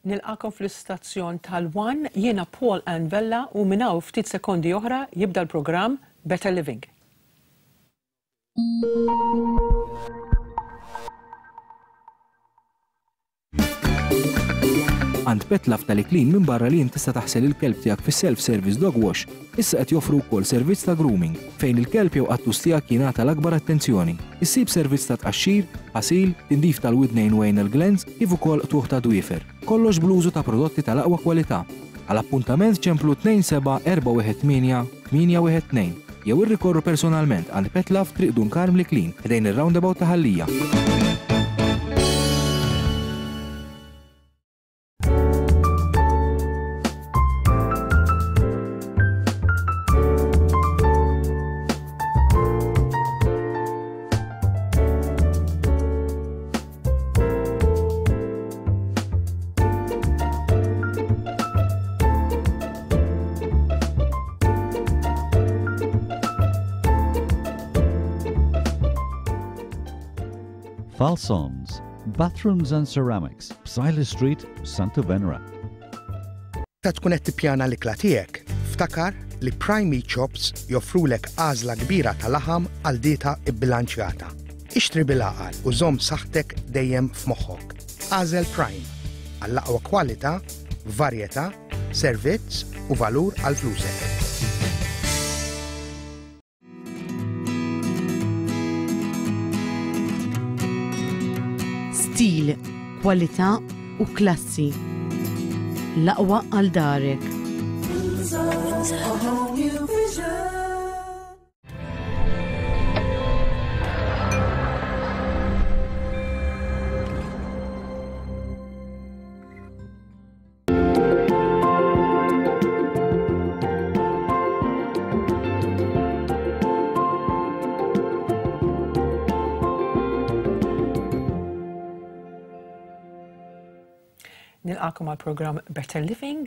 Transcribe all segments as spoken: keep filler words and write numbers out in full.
Nilqagħkom fl-istazzjon tal-One, jiena Paul Ann Vella u minn hawn ftit sekondi oħra jibda l-programm Better Living. Għand Petlove tal-Iklin minn barra li tista' taħsel il-kelb tiegħek fis-self-service dog wash, issa qed joffru wkoll servizz ta' grooming fejn il-kelb jew qattus tiegħek jingħata l-akbar attenzjoni. Issib servizz ta' tqaxxir, ħasil, tindif tal-widnejn u anal glands kif ukoll qtugħ ta' dwiefer. Kollox bl-użu ta' prodotti tal-aqwa kwalità. Għal appuntament ċemplu tnejn seba' erba' wieħed tmienja tmienja wieħed tnejn jew irrikorru personalment għand Petlove, Triq Dun Karm, l-Iklin, ħdejn ir-roundabout ta' Ħal Lija. Falsons, Bathrooms and Ceramics, Psaila Street, Santa Venera. Ta' tkun qed tippjana l-ikla tiegħek, ftakar li Prime Meat Shops joffrulek għażla kbira ta' laħam għal dieta bbilanċjata. Ixtri bil-għaqal u żomm saħħtek dejjem f'moħħok. Agħżel Prime għall-aqwa kwalità, varjetà, servizz u valur għal flusek. Stil, kwalità u klassi. L-aqwa għal darek. A whole new vision. Nilqagħkom għal program Better Living.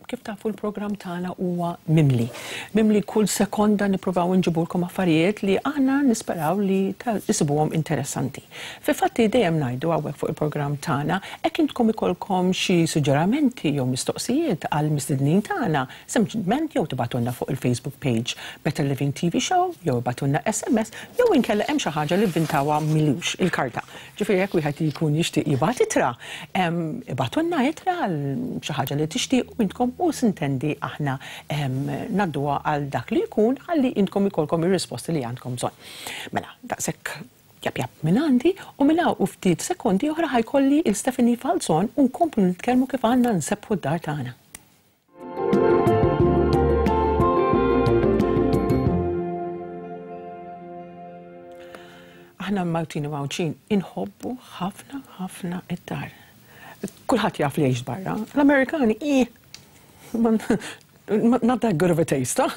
Kif tafu, l-program tagħna huwa mimli. Mimli kull sekonda nippruvaw nġibulkom affarijiet li aħna nisperaw li isibuhom interessanti. Fi fatti dejjem ngħidu hawnhekk fuq il-programm tagħna, hekk intkom ikollkom xi suġġerimenti jew mistoqsijiet għal mistednin tagħna, sempliċement jew tibagħtulna fuq il-Facebook page Better Living T V Show, jew ibagħtulna S M S, jew inkella hemm xi ħaġa li vvintawha m'ilux, il-karta. Ġifieri jekk wieħed jkun jixtieq jibgħat ittra, ibagħtulna ittra għal xi ħaġa li tixtiequ intkom u sintendi aħna ngħadduha għal dak li jkun ħalli intkom ikollkom ir-risposti li għandkom bżonn. Mela, daqshekk jap jap minn għandi u minn hawn u ftit sekondi oħra ħa jkolli lil Stephanie Falzon u nkomplu nitkellmu kif għandna nsebbħu d-dar tagħna. Aħna Maltin u Għawdxin inħobbu ħafna ħafna id-dar. Kulħadd jaf li jgħix barra. L-Amerikani, eh, not that good of a taste, huh?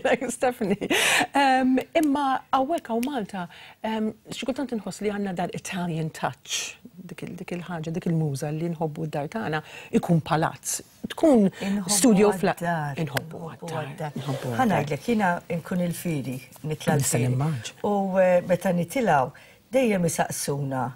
Like Stephanie. Um, imma hawnhekk hawn Malta, um, xi kultant inħoss li għandna dar Italian touch, dik il-ħaġa, dik il-muża li nħobbu d-dar tagħna ikun palazz. Tkun studio flat. Inħobbu għad-dar. Ħa ngħidlek, jiena nkun il-fieri, nitla' l-fieri. U eh, meta nitilgħu, dejjem isaqsuna,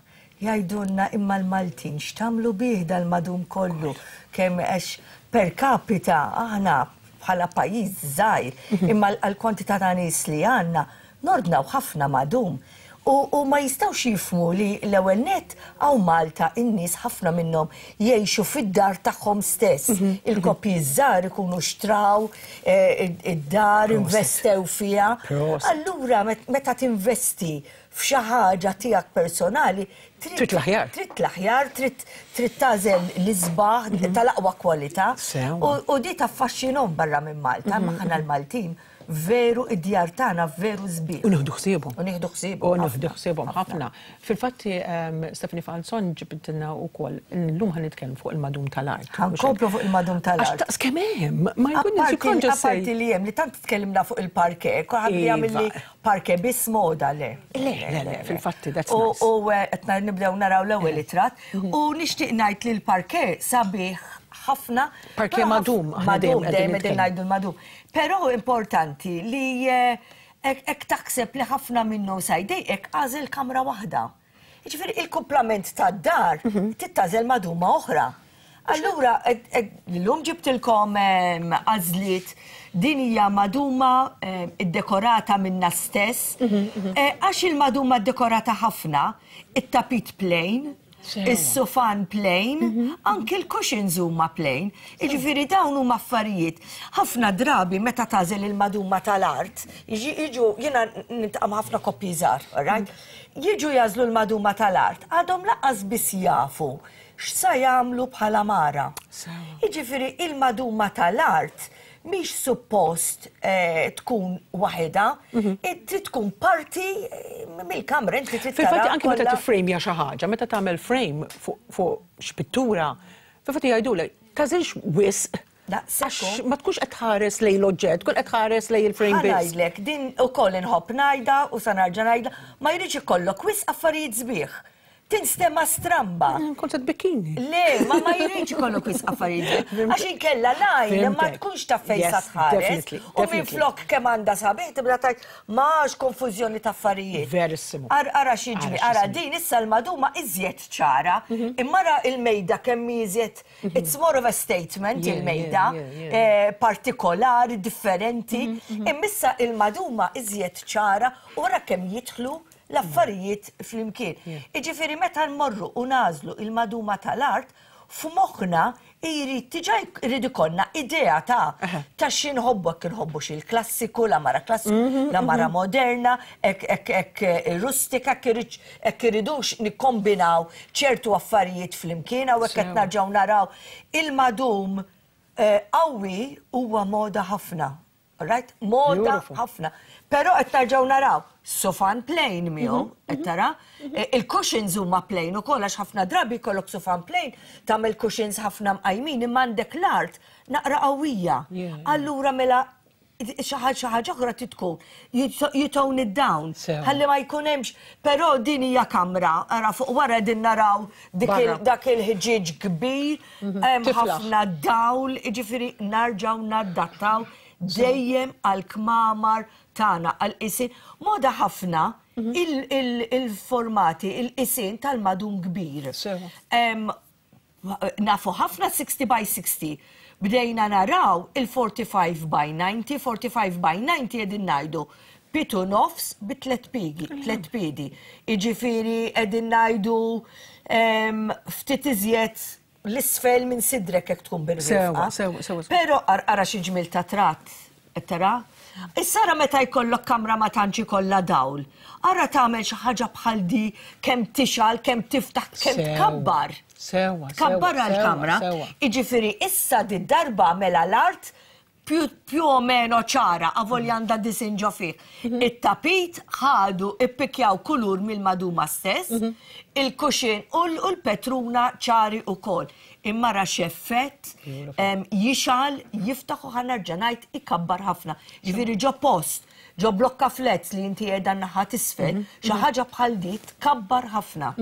jgħidulna, "Imma l-Maltin x'tagħmlu bih dal-madum kollu?" Kemm għax per capita aħna bħala pajjiż żgħir, mhm. imma għal-kwantità ta' nies li għandna nordnaw ħafna madum. U, u ma jistgħux jifhmu li l-ewwel net hawn Malta in-nies ħafna minnhom jgħixu fid-dar tagħhom stess. Mhm. Il-koppji żgħar ikunu xtraw eh, id-dar, investew fiha. Allura meta tinvesti f'xi ħaġa tiegħek personali, trid l-aħjar. Trid l-aħjar, trid trid tagħżel l-isbaħ mhm. tal-aqwa kwalità. U di taffaxxinhom barra minn Malta, mhm. ma aħna l-Maltin veru id-djar tagħna veru sbieħ. U nieħdu ħsiebhom. U nieħdu ħsiebhom. U nieħdu ħsiebhom ħafna. Fil-fatti Stephanie Falzon ġibtilna wkoll illum ħa nitkellmu fuq il-madum tal-art. Ħa nkomplu fuq il-madum tal-art. Għax taqs kemm hemm, ma jkun Apparti li hemm li tant tkellimna fuq il-parke, kulħadd li jagħmel li Iva. parke biss moda, le. Le, le, le, fil-fatti, that's U nice. U, eh, qed nibdew naraw l-ewwel ritratt u nixtieq ngħid li l-parke sabiħ ħafna. Parke Però madum, aħna dejjem Madum, qegħdin dejjem qegħdin nitkellmu. ngħidu l-madum. Però importanti li eh, hekk hekk taħseb li ħafna minnu sa jdejqek, agħżel kamra waħda. Jiġifieri il-kumplament tad-dar Mhm. trid tagħżel maduma oħra. Allura, l-lum ġibtilkom għażliet, din hija maduma iddekorata minna stess, għax il-maduma ddekorata ħafna, it-tapit plain, is-sufan plain, anki l-cushions huma plain. Jiġifieri dawn huma affarijiet. Ħafna drabi meta tagħżel il-maduma tal-art, jiġu jiena niltaqa' ma' ħafna koppji żgħar, right? Jiġu jagħżlu l-maduma tal-art, għadhom lanqas biss jafu x'sa jagħmlu bħala mara. Jiġifieri il-maduma tal-art mhix suppost tkun waħedha, trid tkun parti mill-kamra, inti trid Fil-fatt anke meta tiffrejmja xi ħaġa, meta tagħmel frame fuq x'pittura, fil-fatt jgħidulek tagħżilx wisq għax ma tkunx qed tħares lejn l-oġġett, tkun qed tħares lejn il-frame biss. Ngħidlek, din ukoll inħobb ngħidha u sa nerġa' ngħidha, ma jridx ikollok wisq affarijiet sbieħ. Tinstema stramba. Kont se tbikkini. Le, ma ma jridx ikollok wisq affarijiet. Għax inkella lajn ma tkunx taf fejn sa tħares. U minflok kemm għandha sabiħ tibda tgħid m'għax konfużjoni ta' affarijiet. Verissimo. Ara x'jiġri, ara din issa l-maduma iżjed ċara, imma ara il-mejda kemm iżjed, it's more of a statement il-mejda, partikolari, differenti, imma issa il-maduma iżjed ċara u ara kemm jidħlu l-affarijiet flimkien. Jiġifieri meta nmorru u nagħżlu il-maduma tal-art, f'moħħna jrid diġà jrid ikollna idea ta' ta' xi nħobbu, hekk inħobbu xi l-klassiku, l-għamara klassiku, l-għamara moderna, hekk hekk rustika, hekk iridux nikkombinaw ċertu affarijiet flimkien, hawnhekk qed narġgħu naraw il-madum qawwi huwa moda ħafna. Right? Moda ħafna. Però qed narġgħu naraw sofan plain miegħu, qed tara, il-cushions huma plain ukoll għax ħafna drabi jkollok sofan plain, tagħmel cushions ħafna mqajmin imma għandek l-art naqra qawwija. Allura mela xi ħaġa oħra trid tkun you tone it down. Ħalli ma jkun hemmx, però din hija kamra, ara fuq wara din naraw dak il-ħġieġ kbir, hemm ħafna dawl, jiġifieri narġgħu nadattaw dejjem għal-kmamar tagħna, għal-qisien. Moda ħafna il-formati, il-qisien tal-madum kbir. Nafu ħafna sixty by sixty. Bdejna naraw il-forty-five by ninety, forty-five by ninety qegħdin ngħidu pitu nofs bi tliet piegi, tliet piedi. Jiġifieri qegħdin ngħidu ftit iżjed l-isfel minn sidrek jekk tkun bil-rifqa. Sewa, sewa, sewa. Però ara xi ġmil ta' tratt, qed tara? Issa ara meta jkollok kamra ma tantx ikollha dawl. Ara tagħmel xi ħaġa bħal di kemm tixgħal, kemm tiftaħ, kemm tkabbar. Sewa, Tkabbar għall-kamra. Jiġifieri issa di darba mela l-art più o meno ċara, avolja għandha disin ġo fih. It-tapit ħadu ippikjaw kulur mill-maduma stess, il-kuxin u l-petruna ċari ukoll. Imma ra x'effett jixgħal, jiftaħ u ħa nerġa' ngħid ikabbar ħafna. Ġifieri ġo post, ġo blokka flats li inti qiegħda naħa t'isfel, xi ħaġa bħal di tkabbar ħafna.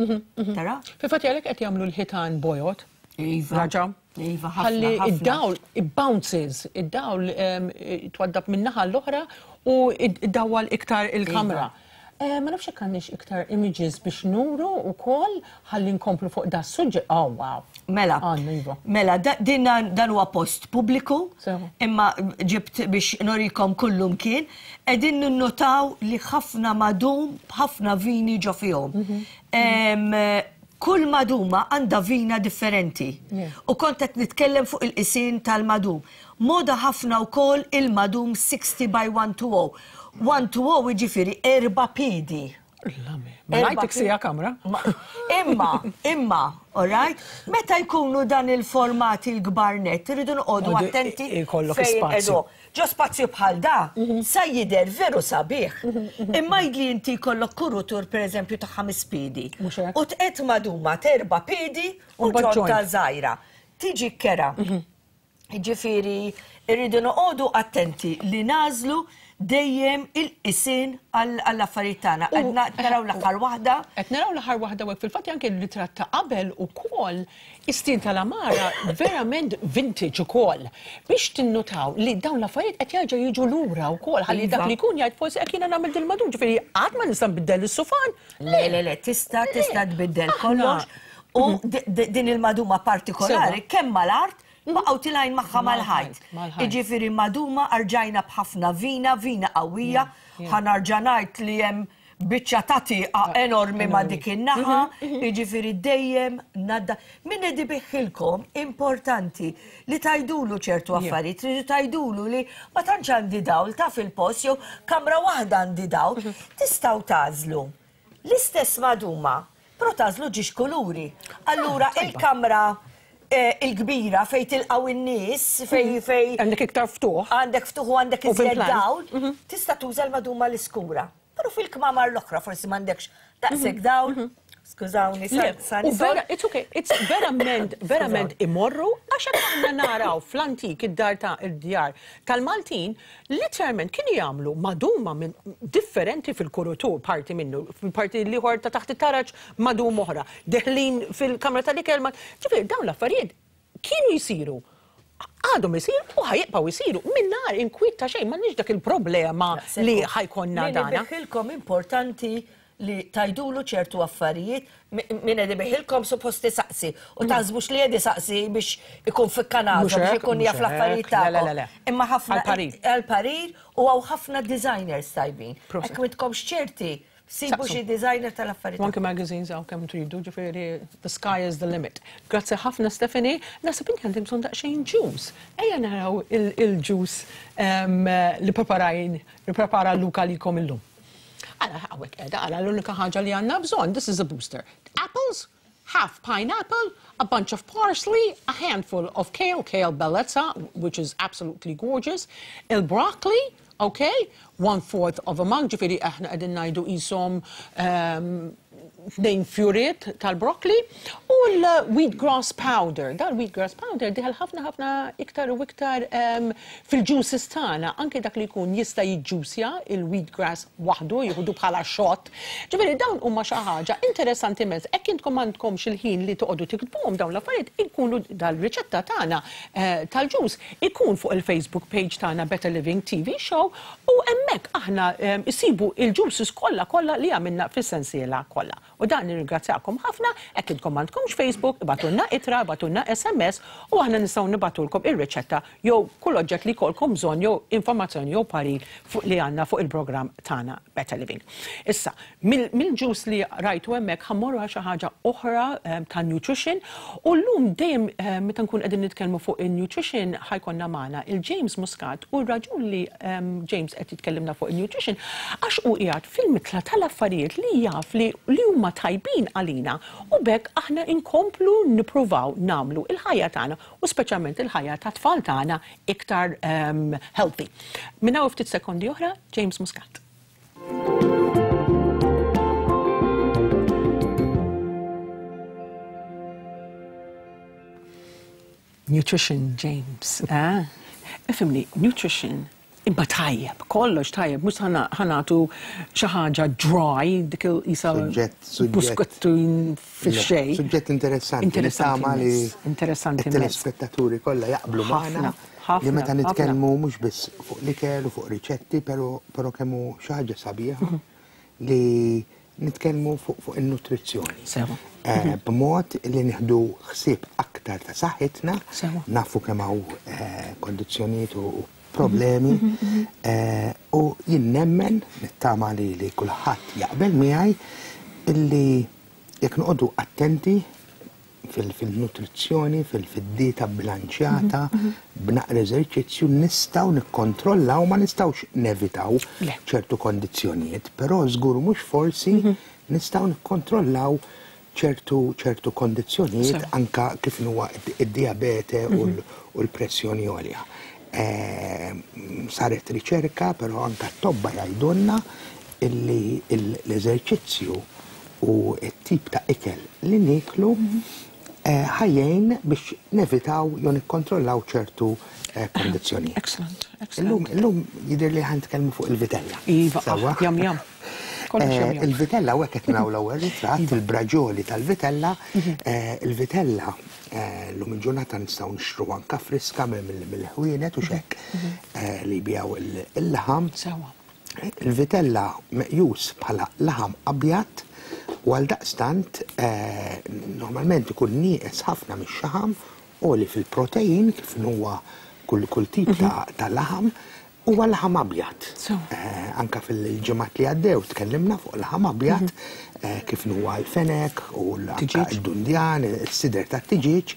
Tara? Fil-fatt għalhekk qed jagħmlu l-ħitan bojod. Iva. Raġa. Iva, ħafna, Ħalli ħafna. id-dawl, it-bounces, id-dawl twaddab minn naħa l-oħra u id-dawwal iktar il-kamra. Ma nafx jekk għandniex iktar images biex nuru wkoll ħalli nkomplu fuq da suġġett. Oh, wow. Mela, Għandna, iva. mela, da-, din dan huwa post pubbliku, Sewa. imma ġibt biex norikom kullum kien, qegħdin ninnotaw li ħafna madum, ħafna vini ġo fihom. Mhm. Kull maduma għandha vina differenti. Yeah. U kont qed nitkellem fuq il-qisien tal-madum. Moda ħafna wkoll il-madum sixty by one two oh. one two oh jiġifieri erba' piedi. Lame. Ma ngħidlek sija kamra. Ma-, imma, imma, all right? Meta jkunu dan il-formati l-kbar net, irridu noqogħdu Għodu attenti i-, ikollok fejn spazju. qegħdu. Ġo spazju bħal da, sa jidher veru sabiħ. Imma jidli inti jkollok kurutur pereżempju ta' ħames piedi. Mhux hekk. U tqed maduma t'erba' piedi u U mbagħad ġonta joint. żgħira. Tiġi kera. Jiġifieri irridu noqogħdu attenti li nażlu dejjem il-qisien għall-affarijiet tagħna. U Qed naraw l-aħħar waħda. Qed naraw l-aħħar waħda u fil-fatt anke l-ritratt ta' qabel ukoll is-stil tal-għamara verament vintage ukoll. Biex tinnutaw li dawn l-affarijiet qed jerġgħu jiġu lura wkoll ħalli dak Iva. li jkun jgħid forsi hekk jiena nagħmel dil-madum, ġifieri qatt ma nista' nbiddel is-sufan. Le, le, le, tista', tista' tbiddel Aħna. kollox. U din il-maduma partikolari kemm mal-art baqgħu tilgħin magħha mal-ħajt. Jiġifieri maduma arġajna b'ħafna vina, vina qawwija, ħa nerġa' ngħid li hemm biċċa ta' tieqa enormi ma' dik in-naħa, jiġifieri dejjem nadda. Min qed ibiħħilkom importanti li tgħidulu ċertu affarijiet, tridu tgħidulu li ma tantx għandi dawl ta' fil-post jew kamra waħda għandi dawl, tistgħu tagħżlu l-istess maduma, però tagħżlu ġiex kuluri. Allura il-kamra il-kbira fej tilqaw in-nies, fej fej. Għandek iktar ftuħ. Għandek ftuħ u għandek iżjed dawl, tista' tuża l-maduma l-iskura. Però fil-kmamar l-oħra forsi m'għandekx daqshekk dawl. Skużawni, U vera, it's okay, it's verament, verament imorru, għax hekk aħna naraw fl-antik id-dar ta' id-djar tal-Maltin, literalment kienu jagħmlu maduma minn differenti fil-kurutur, parti minnu, fil-parti l-ieħor ta' taħt it-taraġ madum oħra, deħlin fil-kamra tal-ikel, ġifieri dawn l-affarijiet kienu jsiru. Għadhom isiru u ħajibqgħu jsiru mingħajr inkwiet ta' xejn, m'għandniex dak il-problema li ħajkonna dana. Min importanti li tajdulu ċertu affarijiet, min qed ibiħilkom suppost isaqsi u taħsbux li qed isaqsi biex ikun fil-Kanada, biex ikun jaf l-affarijiet tagħkom. Imma ħafna għal-parir u hawn ħafna designers tajbin. Hekk m'intkomx ċerti, sibu xi designer tal-affarijiet. Anke magazines hawn kemm tridu, ġifieri the sky is the limit. Grazzi ħafna Stephanie, naħseb inti għandi bżonn daqsxejn juice. Ejja naraw il-juice li preparajn, li prepara Luca likom illum. Għala, għawek edha, għala l-unika ħaġa li għanna bżon, this is a booster. Apples, half pineapple, a bunch of parsley, a handful of kale, kale bellezza, which is absolutely gorgeous, il-broccoli, okay, one fourth of a mug, ġifiri aħna għedin najdu jisom tnejn fjuriet tal-broccoli, u l-wheatgrass powder. Dal-wheatgrass powder diħal ħafna ħafna iktar u iktar fil-juices tagħna, anke dak li jkun jista' jiġġusja il-wheatgrass waħdu, jieħdu bħala shot. Ġifieri dawn huma xi ħaġa interessanti immens. Hekk intkom m'għandkomx il-ħin li toqogħdu tiktbuhom dawn l-affarijiet, inkunu dal-riċetta tagħna tal-juice ikun fuq il-Facebook page tagħna Better Living T V Show, u hemmhekk aħna isibu il-juices kollha kollha li għamilna fis-sensiela kollha. U dan nirringrazzjakom ħafna, hekk intkom m'għandkomx Facebook, ibatulna ittra, ibatulna S M S, u aħna nistgħu nibatulkom ir-riċetta jew kull oġġett li jkollkom bżonn jew informazzjoni jew parir fuq li għandna fuq il-programm tagħna Better Living. Issa, mill-ġus li rajtu hemmhekk ħammorru għal xi ħaġa oħra ta' nutrition, u llum dejjem meta nkun qegħdin nitkellmu fuq in-nutrition ħajkonna magħna il-James Muscat, u r-raġun li James qed jitkellimna fuq in-nutrition għax hu qiegħed fil-mitla tal-affarijiet li jaf li huma tajbin għalina, u bekk aħna inkomplu nippruvaw namlu il-ħajja tagħna u speċjalment il-ħajja ta' tfal tagħna iktar um, healthy. Minn hawn ftit sekondi oħra, James Muscat. Nutrition, James. Eh? Ifimni, nutrition imma tajjeb, kollox tajjeb, mhux ħanatu xi ħaġa dry, dik il-isa buskottu fix-xejn. Suġġett interessanti. Interessanti. Interessanti. Il-telespettaturi kollha jaqblu magħna li meta nitkellmu mhux biss fuq l-ikel u fuq riċetti, però kemm hu xi ħaġa sabiħa li nitkellmu fuq in-nutrizzjoni. Sewa. B'mod li nieħdu ħsieb aktar ta' saħħitna, nafu kemm hawn kondizzjonijiet u problemi, u jien nemmen nittama li li kulħadd jaqbel miegħi illi jekk noqogħdu attenti fil-nutrizzjoni, fil-dieta bilanċjata, b'naqra eżerċizzju nistgħu nikkontrollaw, ma nistgħux nevitaw ċertu kondizzjonijiet, però żgur mhux forsi nistgħu nikkontrollaw ċertu ċertu kondizzjonijiet anka kif huwa id-diabete u l-pressjoni għolja. Saret riċerka, però anka t-tobba jgħidulna illi l-eżerċizzju u t-tip ta' ikel li niklu ħajjejn biex nevitaw jew nikkontrollaw ċertu kondizzjonijiet. Excellent, excellent. Illum jidher li ħa nitkellmu fuq il-vitella. Iva, jam jam. Il-vitella, u hekk qed naraw l-ewwel ritratt, il-braġoli tal-vitella, il-vitella l-lum il-ġurnata nistgħu nixtru anka friska mill-ħwienet u xekk li jbijaw il-laħam. Sewa. Il-vitella meqjus bħala laħam abjad U għal daqstant normalment ikun nieqes ħafna mix-xaħam u li fil-protein kif huwa kull kull tip ta' laħam huwa laħam abjad. Anka fil-ġimgħat li għaddew tkellimna fuq laħam abjad kif huwa l-fenek u l-dundjan, is-sider tat-tiġieġ.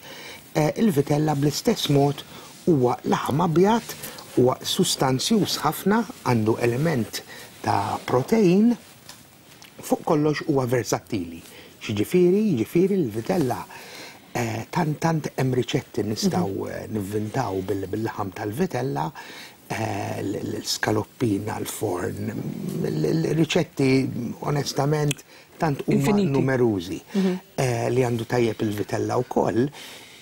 Il-vitella bl-istess mod huwa laħam abjad, huwa sustanzjuż ħafna, għandu element ta' protein, fuq kollox huwa versatili. Xiġifieri, jiġifieri l-vitella tant tant hemm riċetti nistgħu nivvintaw bil-laħam tal-vitella, l-skaloppina, l-forn, l-riċetti onestament tant huma numerużi li għandu tajjeb il-vitella wkoll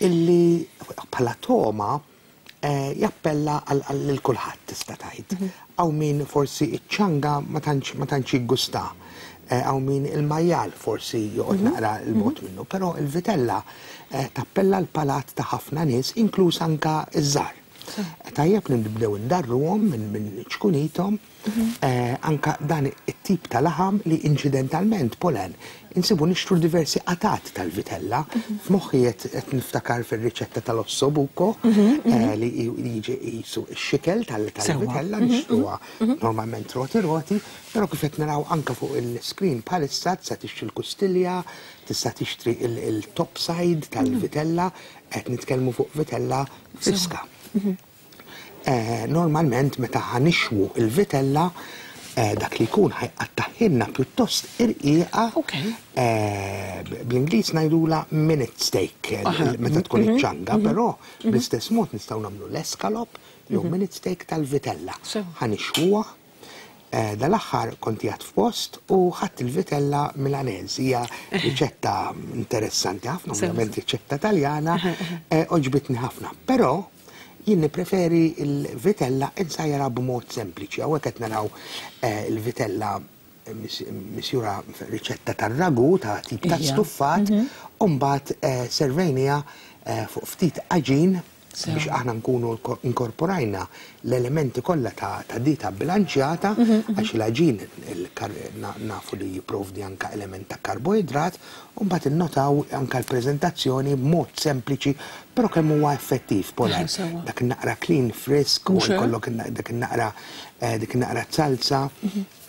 illi bħala toma jappella għal kulħadd tista' tgħid. Hawn min forsi iċ-ċanga ma tantx jiggusta, hawn min il-majjal forsi joqgħod naqra l-bogħod minnu, però il-vitella tappella l-palat ta' ħafna nies, inkluż anka iż-żgħar. Tajjeb li nibdew indarruhom minn ċkunithom, anka dan it-tip ta' laħam li inċidentalment Polen insibu nixtru diversi qatat tal-vitella. F'moħħi qed niftakar fir-riċetta tal-ossobuco li jiġi qisu x-xikel tal-vitella nixtruha normalment roti roti, però kif qed naraw anka fuq il-screen bħalissa tista' tixtri l-kustilja, tista' tixtri il-top side tal-vitella, qed nitkellmu fuq vitella friska. Normalment meta ħanixwu il-vitella dak li jkun ħajqattaħilna pjuttost irqiqa, bl-Ingliż ngħidula minute steak meta tkun iċ-ċanga, però bl-istess mod nistgħu nagħmlu l-escalop jew minute steak tal-vitella. Ħanixwuha. Dal-aħħar kont qiegħed f'post u ħadt il-vitella Milanese, hija riċetta interessanti ħafna, ovvjament riċetta Taljana, oġbitni ħafna, però jien nippreferi il-vitella insajra b'mod sempliċi. Hawnhekk qed naraw il-vitella misjura riċetta tar-ragu ta' tip ta' stuffat, u mbagħad servejniha fuq ftit għaġin biex aħna nkunu inkorporajna l-elementi kollha ta' dieta bilanċjata, għax l-għaġin nafu li jipprovdi anka element ta' karboidrat, u mbagħad innotaw anka l-preżentazzjoni b'mod sempliċi, però kemm huwa effettiv Polen. Dak in-naqra clean frisk u jkollok dak in-naqra dik in-naqra salsa,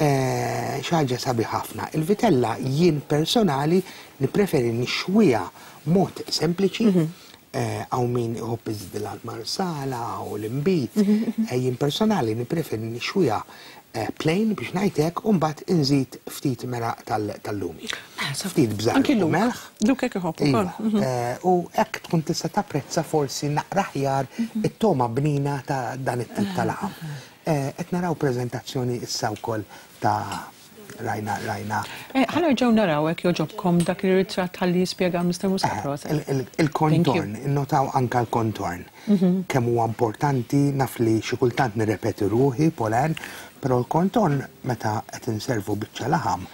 xi ħaġa sabiħ ħafna. Il-vitella jien personali nippreferi nixwiha mod sempliċi, għaw min iħobb iżdilha l-marsala u l-imbit. Jien personali nippreferi nixwiha plain biex ngħidlek u mbagħad inżid ftit meraq tal-lumi. Ftit bżar u melħ. Luk hekk iħobb ukoll. U hekk tkun tista' tapprezza forsi naqra aħjar it-toma bnina ta' dan it-tip ta' laħam. Qed naraw preżentazzjoni issa wkoll ta' rajna, rajna. Ħa nerġgħu naraw hekk joġobkom dak ir-ritratt ħalli jispjega Mister Muscat. Il-kontorn, innotaw anka l-kontorn. Kemm huwa importanti, naf li xi kultant nirrepeti ruħi, Polen, però l-kontorn meta qed inservu biċċa laħam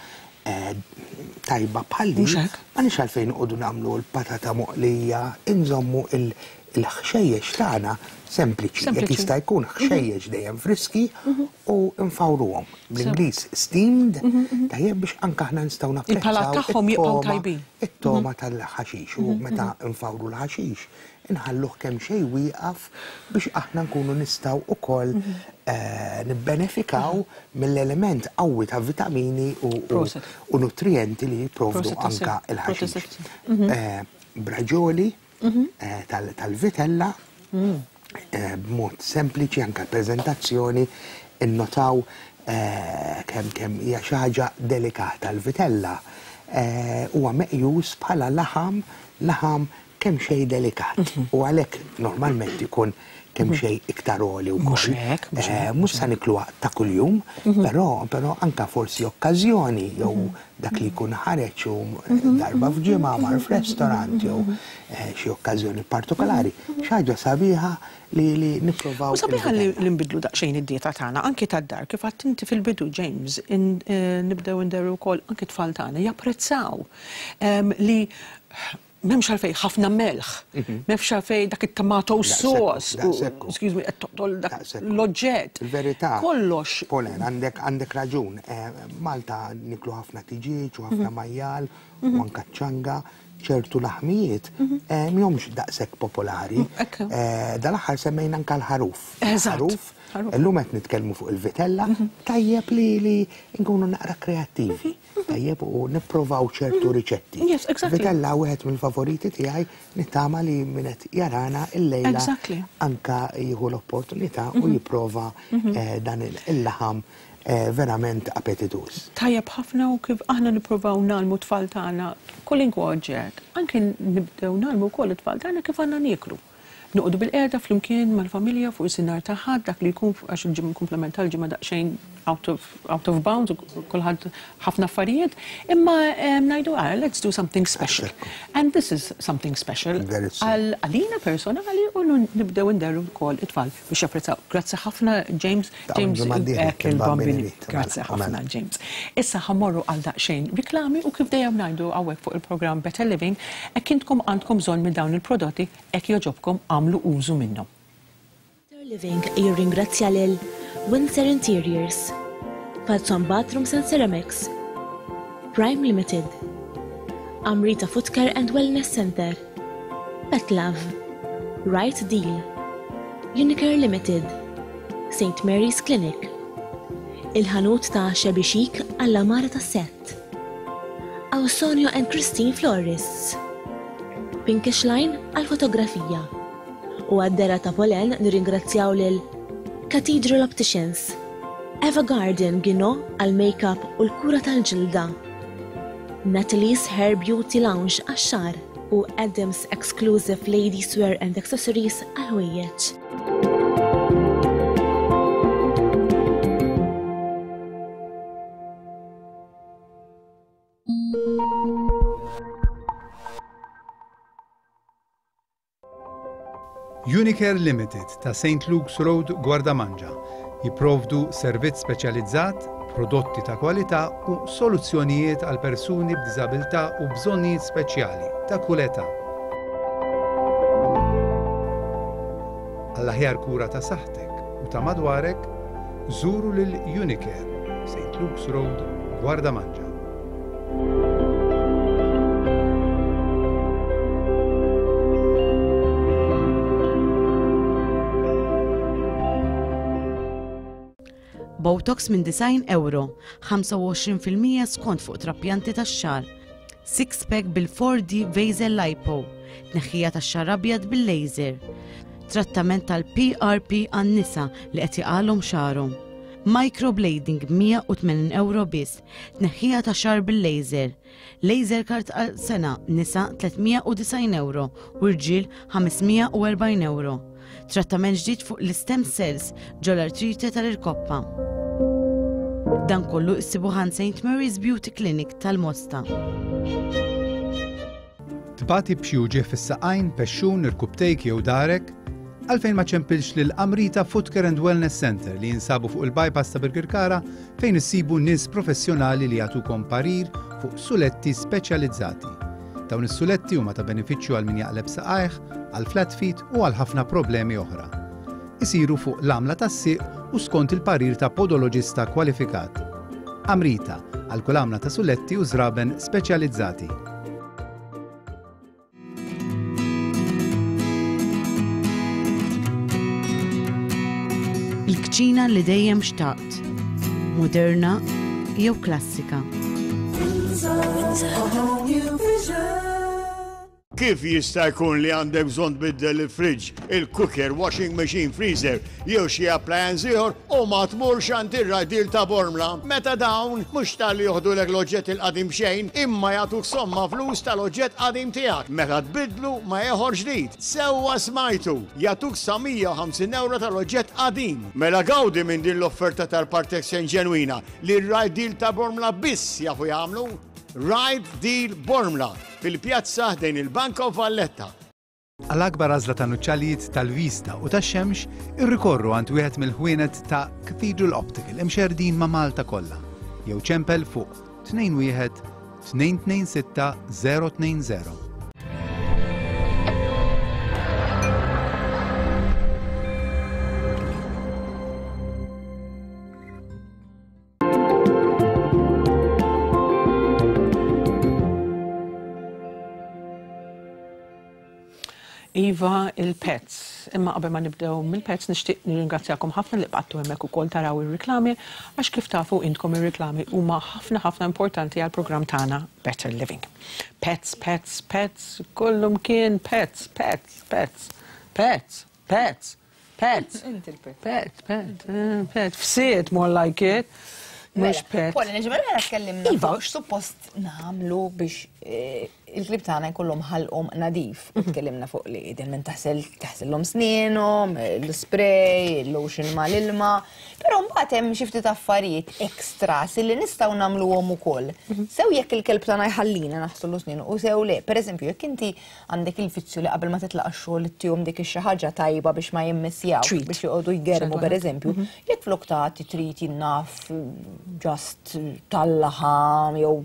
tajba bħal din, m'għandniex għalfejn noqogħdu nagħmlu l-patata moqlija, inżommu il-ħxejjex tagħna sempliċi, jekk jista' jkun ħxejjex dejjem friski u nfawruhom. Bl-Ingliż steamed, tajjeb biex anke aħna nistgħu napprezzaw Il-palat tagħhom jibqgħu tajbin. It-toma tal-ħaxix u meta nfawru l-ħaxix inħalluh kemm xejn wieqaf biex aħna nkunu nistgħu ukoll nibbenefikaw mill-element qawwi ta' vitamini u nutrienti li jipprovdu anka l-ħaxix. Braġoli tal-vitella b'mod sempliċi anka l-preżentazzjoni innotaw kemm kemm hija xi ħaġa delikata. L-vitella huwa meqjus bħala laħam laħam kemm xejn delikat u għalhekk normalment ikun kemm xejn iktar għoli wkoll. Mhux sa nikluha ta' kuljum, però però anka forsi okkażjoni jew dak li jkun ħareġ u darba f'ġimgħa mar f'restorant jew xi okkażjoni partikolari. Xi ħaġa sabiħa li li nipprovaw. U sabiħa li nbidlu daqsxejn id-dieta tagħna anki tad-dar kif għadt inti fil-bidu James, nibdew nderru wkoll anki tfal tagħna japprezzaw li M'hemmx għalfejn ħafna melħ, m'hemmx għalfejn dak it-tomato sauce, excuse me, qed toqtol dak l-oġġett. Il-verità. Kollox. Polen, għandek raġun. Malta niklu ħafna tiġieġ u ħafna majjal u anka ċanga, ċertu laħmijiet mhumiex daqshekk popolari. Dal-aħħar semmejna anka l-ħaruf. Eżatt. Illum qed nitkellmu fuq il-vitella, tajjeb li nkunu naqra kreattivi. Tajjeb u nipprovaw ċertu riċetti. Yes, exactly. Vitella wieħed mill-favoriti tiegħi, nittama li min qed jarana illejla anka jieħu l-opportunità u jipprova dan il-laħam verament appetituż. Tajjeb ħafna u kif aħna nippruvaw nagħlmu tfal tagħna kwalunkwe oġġett, anke nibdew nagħlmu wkoll it-tfal tagħna kif għandna nieklu. Noqogħdu bil-qiegħda flimkien mal-familja fuq is-sinar ta' ħadd dak li jkun għax il-ġimgħa komplement tal-ġimgħa daqsxejn out of out of bounds u kulħadd ħafna affarijiet, imma ngħidu ah, let's do something special. And this is something special għalina personali u nibdew nderru wkoll it-tfal biex japprezzaw. Grazzi ħafna James, James il-Bambini. Grazzi ħafna James. Issa ħammorru għal daqsxejn riklami u kif dejjem ngħidu hawnhekk fuq il-programm Better Living, hekk intkom għandkom bżonn minn dawn il-prodotti hekk jogħġobkom għamlu użu minnhom. Better Living jirringrazzja lil Windsor Interiors, Falzon Bathrooms and Ceramics, Prime Limited, Amrita Footcare and Wellness Center, Pet Love, Right Deal, Unicare Limited, Saint Mary's Clinic, Il-ħanut ta' Shabby Chic għall-amara ta' set, Ausonio and Christine Florists, Pinkish Line għal-fotografija. U għad-dera ta' Polen nirringrazzjaw lil Cathedral Opticians, Eva Garden Gino għal-makeup u l-kura tal-ġilda, Natalie's Hair Beauty Lounge għax-xagħar u Adams Exclusive Ladies Wear and Accessories għal-ħwejjeġ. Unicare Limited ta' Saint Luke's Road, Gwardamanġa jipprovdu servizz speċjalizzat, prodotti ta' kwalità u soluzzjonijiet għal persuni b'diżabilità u bżonnijiet speċjali ta' kull età. Għall-aħjar kura ta' saħħtek u ta' madwarek, żuru lil Unicare, Saint Luke's Road, Gwardamanġa. Botox minn disgħin euro, ħamsa u għoxrin fil-mija skont fuq trapjanti tax-xagħar. Six pack bil-four D Vaser Lipo, tneħħija tax-xagħar abjad bil-laser. Trattament tal-P R P għan-nisa li qed jaqalhom xagħarhom. Microblading mija u tmenin euro biss, tneħħija ta' xagħar bil-laser. Laser card għal sena nisa tliet mija u disgħin euro u rġiel ħames mija u erbgħin euro. Trattament ġdid fuq l-stem cells ġol-artrite tal-irkoppa. Dan kollu issibu ħan Saint Mary's Beauty Clinic tal-Mosta. Tbati b'xi uġigħ fis-saqajn, pexxun, irkubtejk jew darek? Għalfejn ma ċempilx lil Amrita Footcare and Wellness Center li jinsabu fuq il-bypass ta' Birkirkara fejn issibu nies professjonali li jagħtukom parir fuq suletti speċjalizzati. Dawn is-suletti huma ta' benefiċċju għal min jaqleb saqajh, għal flat feet u għal ħafna problemi oħra. Isiru fuq l-għamla tas-sieq u skont il-parir ta' podoloġista kwalifikat. Amrita, għal kull għamla ta' suletti u żraben speċjalizzati. Il-kċina li dejjem xtaqt, moderna jew klassika. Kif jista' jkun li għandek bżonn tbiddel il-fridge, il-cooker, washing machine, freezer, jew xi appliance ieħor u ma tmurx għand ir-Right Deal ta' Bormla? Meta dawn mhux talli joħdulek l-oġġett il-qadim xejn, imma jagħtuk somma flus tal-oġġett qadim tiegħek. Meta tbidlu ma ieħor ġdid. Sewwa smajtu, jagħtuk sa mija u ħamsin euro tal-oġġett qadim. Mela gawdi minn din l-offerta tal-Part Exchange ġenwina li r-Right Deal ta' Bormla biss jafu jagħmlu. Right Deal Bormla fil-pjazza ħdejn il-Bank of Valletta. Għall-akbar għażla ta' nuċċalijiet tal-vista u tax-xemx, irrikorru għand wieħed mill-ħwienet ta' Cathedral Optical imxerdin ma' Malta kollha jew ċempel fuq tnejn wieħed tnejn tnejn sitta zero tnejn zero. Iva, il-pets. Imma qabel ma nibdew mill-pets nixtieq nirringrazzjakom ħafna li bqajtu hemmhekk ukoll taraw ir-riklami għax kif tafu intkom ir-riklami huma ħafna ħafna importanti għall-programm tagħna Better Living. Pets, pets, pets, kullum kien pets, pets, pets, pets, pets, pets. Inti l-pet. Pet, pet, eh, pet. Fsiet more like it. Mhux pet. Paula, ġimgħa l tkellimna Iva. fuq x'suppost nagħmlu biex eh, il-klieb tagħna jkollhom ħalqhom nadif. U tkellimna fuq li idealment taħsel taħsellhom snienhom, l-spray, il-lotion mal-ilma. Però mbagħad hemm xi ftit affarijiet extras li nistgħu nagħmluhom ukoll. Sew jekk il-kelb tagħna jħallina naħslu snienu u sew le. Pereżempju, jekk inti għandek il-fizzju li qabel ma titlaq ix-xogħol ittihom dik ix-xi ħaġa tajba biex ma jimmissjaw, Treat. biex joqogħdu jgermu X'għandu pereżempju, jekk flok tagħti treat jinnaf just tal-laħam jew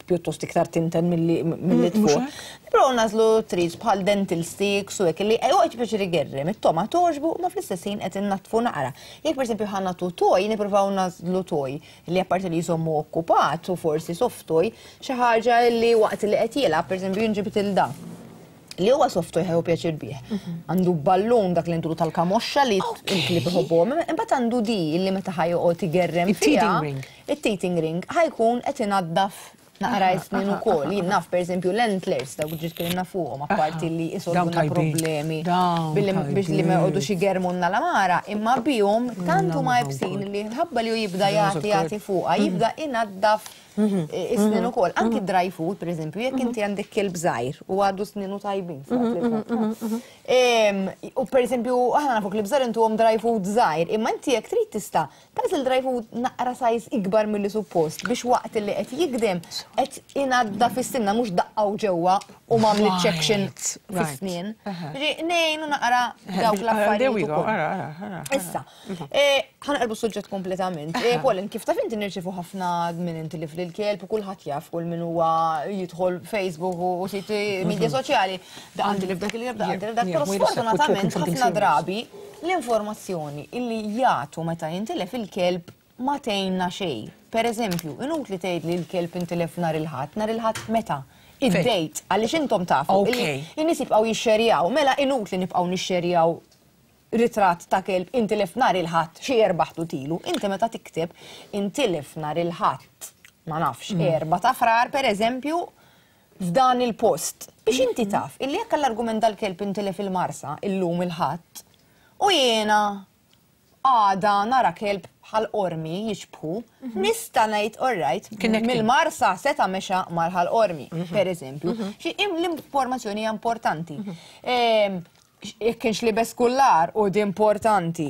pjuttost iktar tinten milli milli Mm, mhux tfuq. Però nagħżlu treats bħal dental sticks u hekk li joqgħod pjaċir igerrem, it-togħma togħġbu ma fl-istess ħin qed innaddfu naqra. Jekk pereżempju ħa nagħtu toy, nippruvaw nagħżlu toy li apparti li jżommu okkupat u forsi soft toy, xi ħaġa li waqt li qed jilgħab pereżempju jinġibet il da li huwa soft toy ħa jieħu pjaċir bih. Għandu ballun dak li ntulu tal-kamoxxa li il-klieb iħobbuhom, imbagħad għandu di li meta ħa joqgħod igerrem Il-teething fiha, ring. Il-teething ring ħa jkun qed inaddaf naqra snin ukoll. Jien naf pereżempju l-antlers dawk ġiet tkellimna fuqhom apparti li Dawn isolvuna tajbin. problemi Dawn billi biex li ma tajbin. joqogħdux igermulna l-għamara, imma bihom tant huma iebsin li ħabba li hu jibda jagħti jagħti fuqha, jibda inaddaf is-snin ukoll. Anki dry food, pereżempju, jekk inti għandek kelb żgħir u għadu sninu tajbin. Em, U pereżempju, aħna nafu klieb żgħar intuhom dry food żgħir, imma inti jekk trid tista' tagħżel dry food naqra size ikbar milli suppost biex waqt li qed jigdem qed inaddaf is-sinna mhux daqqaw ġewwa u m'għamlitx action Right, fis-snien. right. Ġi, Nejnu naqra dawk There l-affarijiet we go, ukoll. ara, ara, ara. Issa, eh, ħa naqilbu suġġett kompletament. Eh, Pauline, kif taf inti nirċifu ħafna minn inti li fil-kelb u kulħadd jaf kull min huwa jidħol Facebook u siti media soċjali. Da għandi li f'dak il-kelb, da għandi li f'dak. Yeah, Però wait a sec, we're talking sfortunatament something ħafna serious. drabi l-informazzjoni illi jagħtu meta jintilef il-kelb ma tgħinna xejn. Per eżempju, inutli tgħid li l-kelb intilef nhar il-Ħadd, nhar il-Ħadd meta? Id-date, għaliex intom tafu. Okay. illi In-nies jibqgħu jixxerjaw, mela inutli nibqgħu nixxerjaw ritratt ta' kelb intilef nhar il-Ħadd xi erba' ilu. Inti meta tikteb intilef nhar il-Ħadd, ma nafx, erba' ta' Frar per eżempju, f'dan il-post. Biex inti taf, illi jekk l-argument dal-kelb intilef il-Marsa, illum il-Ħadd, u jiena għada nara kelb Ħal Qormi jixbħu, nista' ngħid alright, Connecting. mill-Marsa seta' mexa mar Ħal Qormi, per eżempju. Xi im- L-informazzjoni hija importanti. Em, Jekk kienx libes kullar u di importanti.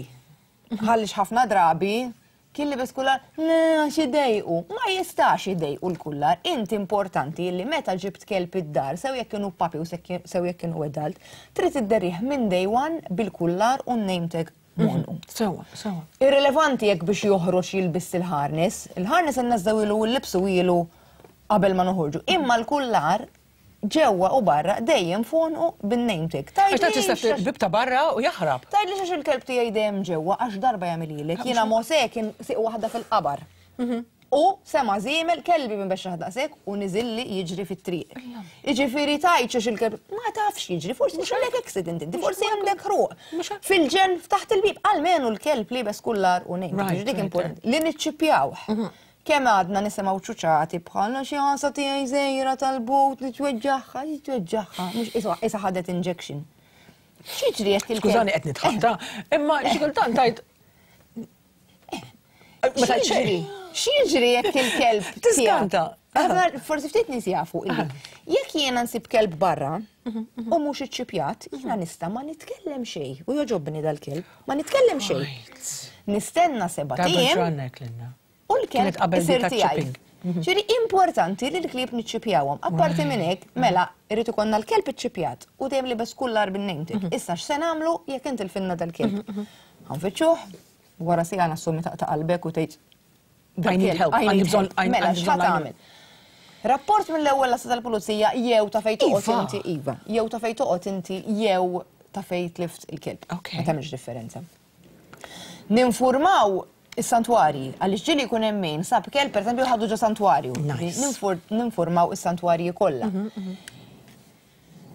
Għaliex ħafna drabi kien libes kullar, le, għax idejqu. Ma jistax idejqu l-kullar. Inti importanti li meta ġibt kelb id-dar, sew jekk kienu puppy u sew jekk kienu adult, trid idderrih minn day one bil-kullar u name tag m'għonqu. Sewa, sewa. Irrelevanti jekk biex joħroġ jilbis il-harness, il-harness inneżżgħu ilu l-libsu ilu qabel ma noħorġu. Imma l-kullar ġewwa u barra dejjem f'għonqu bin-name tag. Għax ta' tista' bib ta' barra u jaħrab. Tgħidli għax il-kelb tiegħi dejjem ġewwa għax darba jagħmililek. Jiena Mose kien siq waħda fil-qabar. U sema żiemel kelbi minn biex daqshekk u niżilli jiġri fit-triq. Jiġifieri tgħidx għax il-kelb ma tafx jiġri, forsi kellek accident inti, forsi għandek ħruq. Fil-ġen ftaħt il-bib, almenu l-kelb libes kullar u name. Right, Dik right, importanti. Li niċċipjawh. Kemm għadna nisimgħu ċuċati bħal xi għansa tiegħi żgħira tal-but li tweġġaħħa, li tweġġaħħa, mhux isa isa ħadet injection. X'jiġri jekk il-kelb? Skużani qed nitħatta, imma xi kultant tgħid Ma tgħid X'jiġri? xejn. X'jiġri jekk il-kelb Tiskanta. tiegħek? Forsi ftit nies jafu illi jekk jiena nsib kelb barra u mhux iċċipjat, jiena nista' ma nitkellem xejn u joġobni dal-kelb, ma nitkellem xejn. Nistenna seba' Darba ijiem ġrannek lilna. u l-kelb Kienet qabel isir di ta' tiegħi. chipping. Ġifieri importanti li l-klieb niċċipjawhom. Apparti minn hekk, mela irid ikollna l-kelb iċċipjat u dejjem libes kullar bin-name tag. Issa x'se nagħmlu jekk intilfinna dal-kelb? Ħa nfittxuh, wara siegħa nassumi taqta' qalbek u tgħid I need help, I għandi need bżonn- help. għandi Mela, bżonn x'ħa għajnuna. tagħmel? Rapport mill-ewwel l tal-pulizija jew ta' fejn toqgħod Iva. inti iva, jew ta' fejn toqgħod inti jew ta' fejn tlift il-kelb. Ok. Ma tagħmilx differenza. Ninfurmaw is-santwarji, għaliex ġieli jkun hemm min sab kelb pereżempju ħadu ġo santwarju. Nice. Ninfur- Ninfurmaw is-santwarji kollha.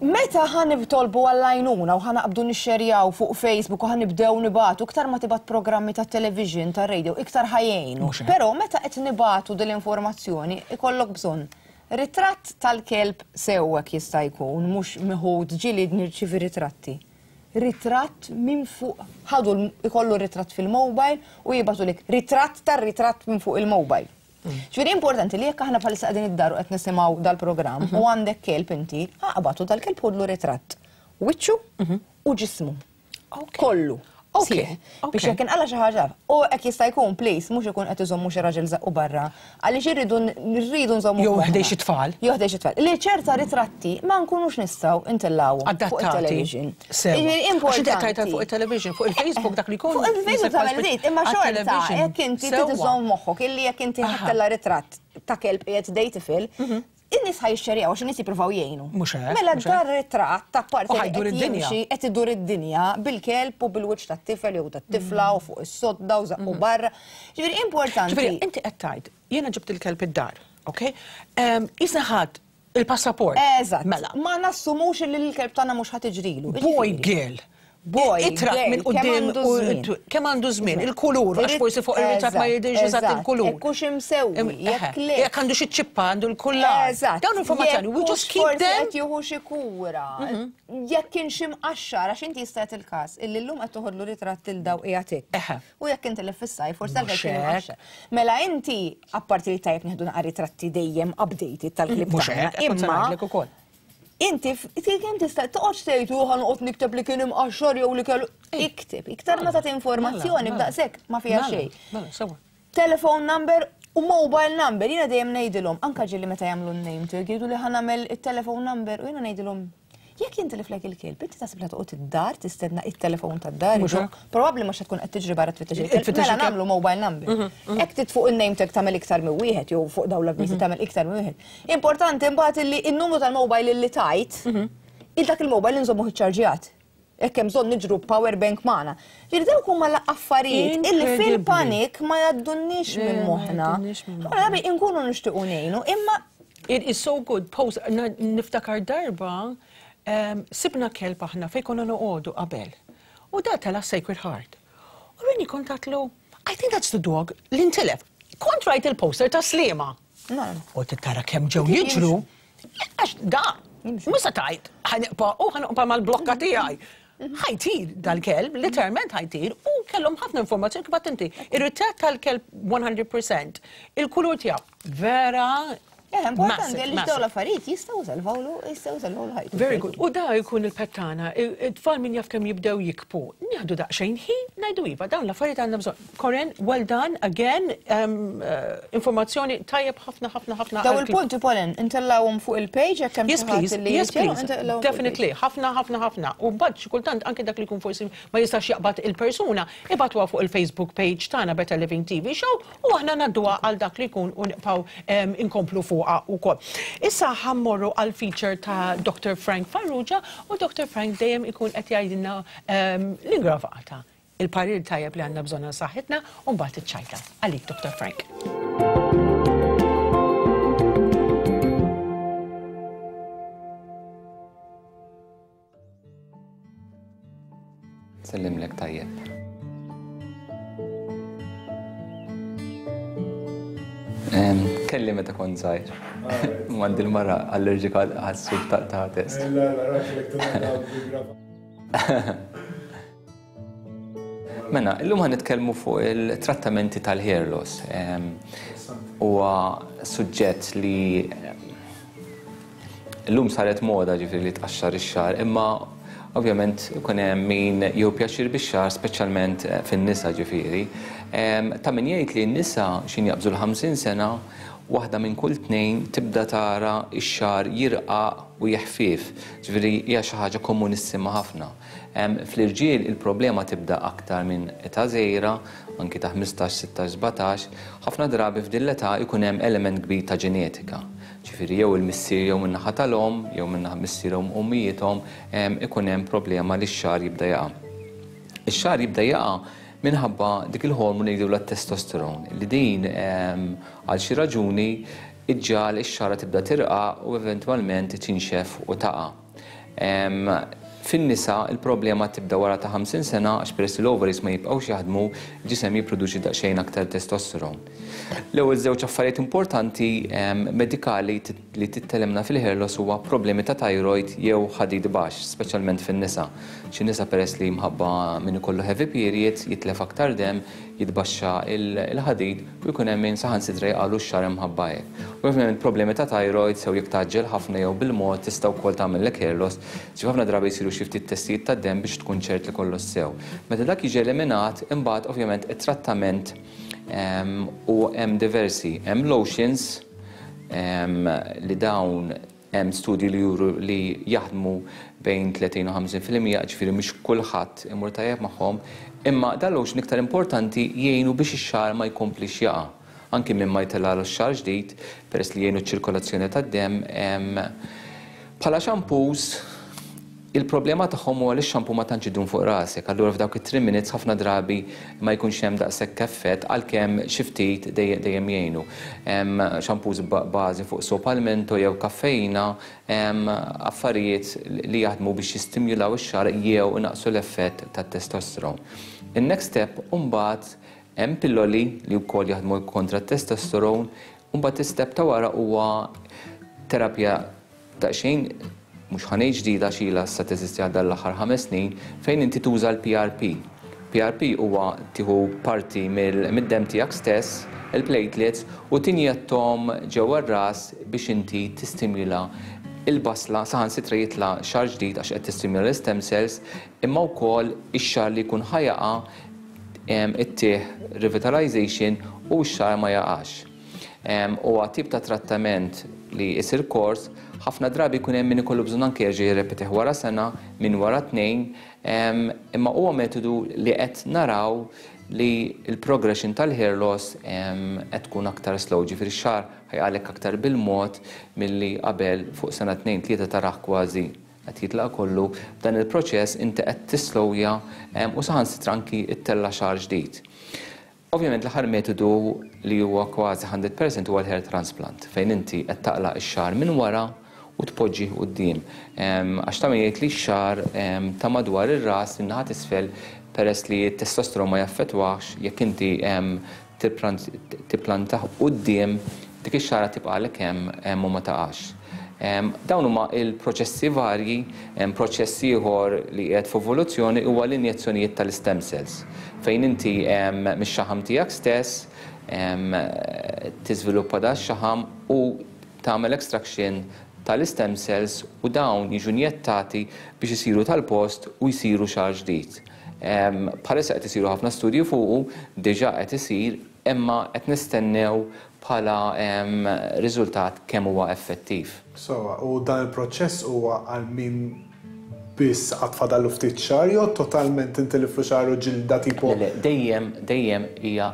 Meta ħa nitolbu għall-għajnuna u ħa naqbdu nixxerjaw fuq Facebook u ħa nibdew nibagħtu, iktar ma tibgħat programmi ta' television, ta' radio, iktar ħa jgħinu. Però meta qed nibagħtu dil-informazzjoni, ikollok bżonn ritratt tal-kelb sewwek jista' jkun, mhux meħud ġieli nirċievi ritratti. Ritratt minn fuq, ħadu ikollu ritratt fil-mobile u jibagħtu ritratt tar-ritratt minn fuq il-mobile. Ġifieri importanti li jekk aħna bħalissa qegħdin id-dar u qed nisimgħu dal-programm u għandek kelb inti, aqbatu dal-kelb ħudlu ritratt. Wiċċu u ġismu. Kollu. Biex jekk inqala xi ħaġa. U hekk jista' jkun please mhux ikun qed iżommu xi raġel żaqqu barra. Għaliex irridu nirridu nżommu. Jew ħdej xi tfal. Jew ħdej xi tfal. Li ċerta ritratti ma nkunux nistgħu intellgħu fuq il-television. Importanti. Fuq il-television, fuq il-Facebook dak li jkun. Fuq il-Facebook tagħmel żid, imma xorta jekk inti trid iżomm moħħok illi jekk inti ħa ttella' ritratt ta' kelb qiegħed ħdej tifel, in-nies ħa jixxerjaw għax in-nies jippruvaw jgħinu. Mela dar ritratt ta' parti qed jimxi qed idur id-dinja bil-kelb u bil-wiċċ tat-tifel jew tat-tifla u fuq is-sodda u żaqqu barra. Ġifieri importanti. Ġifieri inti qed tgħid, jiena ġibt il-kelb id-dar, okej? Isna ħadd il-passaport. Eżatt. Mela. Ma nassumux li l-kelb tagħna mhux ħa tiġrilu. Boy girl. Boy, Itrak minn quddiem kemm għandu żmien, il-kulur, għax forsi fuq ir-ritratt ma jidhirx eżatt il-kulur. Jekk hux imsewwi, jekk le. Jekk għandu xi ċippa għandu l-kullar. Eżatt. Dawn informazzjoni, we just keep them. Jekk jieħu xi kura. Jekk kien xi mqaxxar għax inti jista' jagħti il-każ illi llum qed toħodlu ritratt il daw qiegħed hekk. U jekk intilef fis-sajf forsi dal kien imqaxxar. Mela inti apparti li tajjeb nieħdu naqra ritratti dejjem updated tal-klib tagħna. Imma Inti, kemm tista' toqgħodx tgħid u ħa noqgħod nikteb li kien imqaxxar jew li kellu. Ikteb, iktar ma tagħti informazzjoni b'daqshekk ma fiha xejn. Telephone number u mobile number, jiena dejjem ngħidilhom, anke ġieli meta jagħmlu n-name tag jgħidu li ħa nagħmel it-telephone number u jiena ngħidilhom jekk jintiliflek il-kelb, inti taħseb li toqgħod id-dar tistenna it-telefon tad-dar. Probabbli mhux tkun qed tiġri barra tfittex il-kelb. Mela nagħmlu mobile number. Hekk tit fuq in-name tag tagħmel iktar minn wieħed jew fuq dawn l-avviżi tagħmel iktar minn wieħed. Importanti mbagħad illi n-numru tal-mobile illi tajt, il dak il-mobile inżommuh iċċarġjat. Hekk hemm bżonn niġru power bank magħna. Ġifieri dawk huma l-affarijiet illi fil-panik ma jgħaddunniex minn moħħna. Aħna inkunu nixtiequ ngħinu, imma it is so good post niftakar darba sibna kelb aħna fejn konna noqogħdu qabel. U da tela Sacred Heart. U rini kont għatlu, I think that's the dog li ntilef. Kont rajt il-poster ta' Sliema. U tara kemm ġew jiġru. Għax da, mhux se tgħid, ħa nibqa' u ħa nibqa' mal-blokka tiegħi. Ħa jtir dal-kelb, literalment ħa jtir, u kellhom ħafna informazzjoni kif inti. Ir-ritratt tal-kelb one hundred percent, il-kulur tiegħu vera. Importanti li dawn l-affarijiet jistgħu salvawlu, jistgħu salvawlu ħajtu. Very good. U da jkun il-pettana, it-tfal min jaf kemm jibdew jikbu. Nieħdu daqsxejn ħin, ngħidu iva, dawn l-affarijiet għandna bżonn. Corinne, well done, again, informazzjoni tajjeb ħafna ħafna ħafna. Daw il-punti, Pauline, intellawhom fuq il-page jekk hemm Yes, please, yes, please. Definitely, ħafna ħafna ħafna. U mbagħad xi kultant anke dak li jkun forsi ma jistax jaqbad il-persuna, ibatuha fuq il-Facebook page tagħna Better Living T V Show u aħna ngħadduha għal dak li jkun u nibqgħu inkomplu fuq. Issa ħa mmorru għal feature ta' Doctor Frank Farrugia u Doctor Frank dejjem ikun qed jgħidilna l-ingravata, il-parir tajjeb li għandna bżonn għal saħħitna u mbagħad iċ-ċajta. Għalik Doctor Frank. Sellimlek tajjeb. Kelli meta kont żgħir. Għandi l-mara allerġika għas-suf ta' test. Mela, illum ħa nitkellmu fuq il-trattamenti tal-hair loss. Huwa suġġett li llum saret moda ġifieri li tqaxxar ix-xagħar, imma ovvjament ikun hemm min jieħu pjaċir bix-xagħar, speċjalment fin-nisa ġifieri. Ta' min jgħid li n-nisa x'in jaqbżu l-ħamsin sena, waħda minn kull tnejn tibda tara x-xagħar jirqaq u jeħfief. Ġifieri hija xi ħaġa komunissima ħafna. Fl-irġiel il-problema tibda aktar minn età żgħira, anki ta' ħmistax, sittax, sbatax, ħafna drabi f'din l-età jkun hemm element kbir ta' ġenetika. Ġifieri jew il-missier jew min-naħa tal-omm, jew min-naħa missierhom u ommijiethom, ikun hemm problema li x-xagħar jibda jaqa'. Ix-xagħar jibda jaqa' minħabba dik il-hormon li jgħidulha t-testosteron, li din għal xi raġuni iġġal ix-xagħra tibda tirqa' u eventwalment tinxef u taqa'. Fin-nisa il-problema tibda wara ta' ħamsin sena għax peress li l-ovaries ma jibqgħux jaħdmu, il-ġisem jipproduċi daqsxejn aktar testosteron. L-ewwel żewġ affarijiet importanti medikali li tittelemna fil-hair loss huwa problemi ta' thyroid jew ħadid baxx, speċjalment fin-nisa. Xi nisa peress li mħabba min ikollu heavy periods jitlef aktar demm, jitbaxxa il-ħadid u jkun hemm min saħansitra jqalu x-xagħar imħabba hekk. U ovvjament problemi ta' thyroid sew jekk tgħaġġel ħafna jew bil-mod tista' wkoll tagħmellek hair loss. Ġi ħafna drabi jsiru xi ftit testijiet tad-demm biex tkun ċert li kollox sew. Meta dak jiġi eliminat, imbagħad ovvjament it-trattament u hemm diversi, hemm lotions li dawn hemm studji li juru li jaħdmu bejn tletin u ħamsin fil-mija, ġifieri mhux kulħadd imur tajjeb magħhom, imma dal-lotion iktar importanti jgħinu biex ix-xagħar ma jkomplix jaqa'. Anki minn ma jtellgħalu x-xagħar ġdid, peress li jgħinu ċ-ċirkolazzjoni tad-demm. Bħala shampoos, il-problema tagħhom huwa li x-shampoo ma tantx idum fuq rasek, allura f'dawk it-three minutes ħafna drabi ma jkunx hemm daqshekk effett għalkemm xi ftit dejjem jgħinu. Shampoos bażi fuq soap al mento jew kaffeina, affarijiet li jaħdmu biex jistimulaw ix-xagħar jew inaqqsu l-effett tat-testosteron. In-next step imbagħad hemm pilloli li wkoll jaħdmu kontra t-testosteron, u mbagħad is-step ta' wara huwa terapija daqsxejn mhux ħa ngħid ġdida xila sa teżisti għal dan l-aħħar ħames snin, fejn inti tuża l-P R P. P R P huwa tieħu parti mid-demm tiegħek stess, il-platelets, u tinjettom ġewwa r-ras biex inti tistimula il-basla, saħansitra jitla' xagħar ġdid għax qed tistimula l-stem cells, imma wkoll ix-xagħar li jkun ħajaqa' ittih revitalization u x-xagħar ma jaqax. Huwa tip ta' trattament li jsir kors, ħafna drabi jkun hemm min ikollu bżonn anke jerġa' jirrepetih wara sena, minn wara tnejn, imma huwa metodu li qed naraw li l-progression tal-hair loss qed tkun aktar slow, ġifieri x-xagħar ħajqalek aktar bil-mod milli qabel fuq sena tnejn tlieta taraħ kważi qed jitlaq kollu. B'dan il-proċess inti qed tislowja u saħansitra anki ttella' xagħar ġdid. Ovvjament l-aħħar metodu li huwa kważi hundred percent huwa l-hair transplant, fejn inti qed taqlaq ix-xagħar minn wara u tpoġġih quddiem. Għax ta' min jgħid li x-xagħar ta' madwar ir-ras in-naħa t'isfel peress li t-testosteron ma jaffettwax, jekk inti tipplantah quddiem dik ix-xagħra tibqalek hemm u ma taqax. Dawn huma il-proċessi varji, hemm proċess ieħor li qiegħed f'evoluzzjoni huwa l-injezzjonijiet tal-stem cells, fejn inti mix-xaħam tiegħek stess tiżviluppa da x-xaħam u tagħmel extraction tal-stem cells u dawn jiġu injettati biex isiru tal-post u jsiru xagħar ġdid. Bħalissa qed isiru ħafna studji fuqu, diġà qed isir, imma qed nistennew bħala riżultat kemm huwa effettiv. Sowa, u dan il-proċess huwa għal min biss għad fadallu ftit xagħar jew totalment intiliflu xagħar u ġilda tipo? Le, le, dejjem, dejjem hija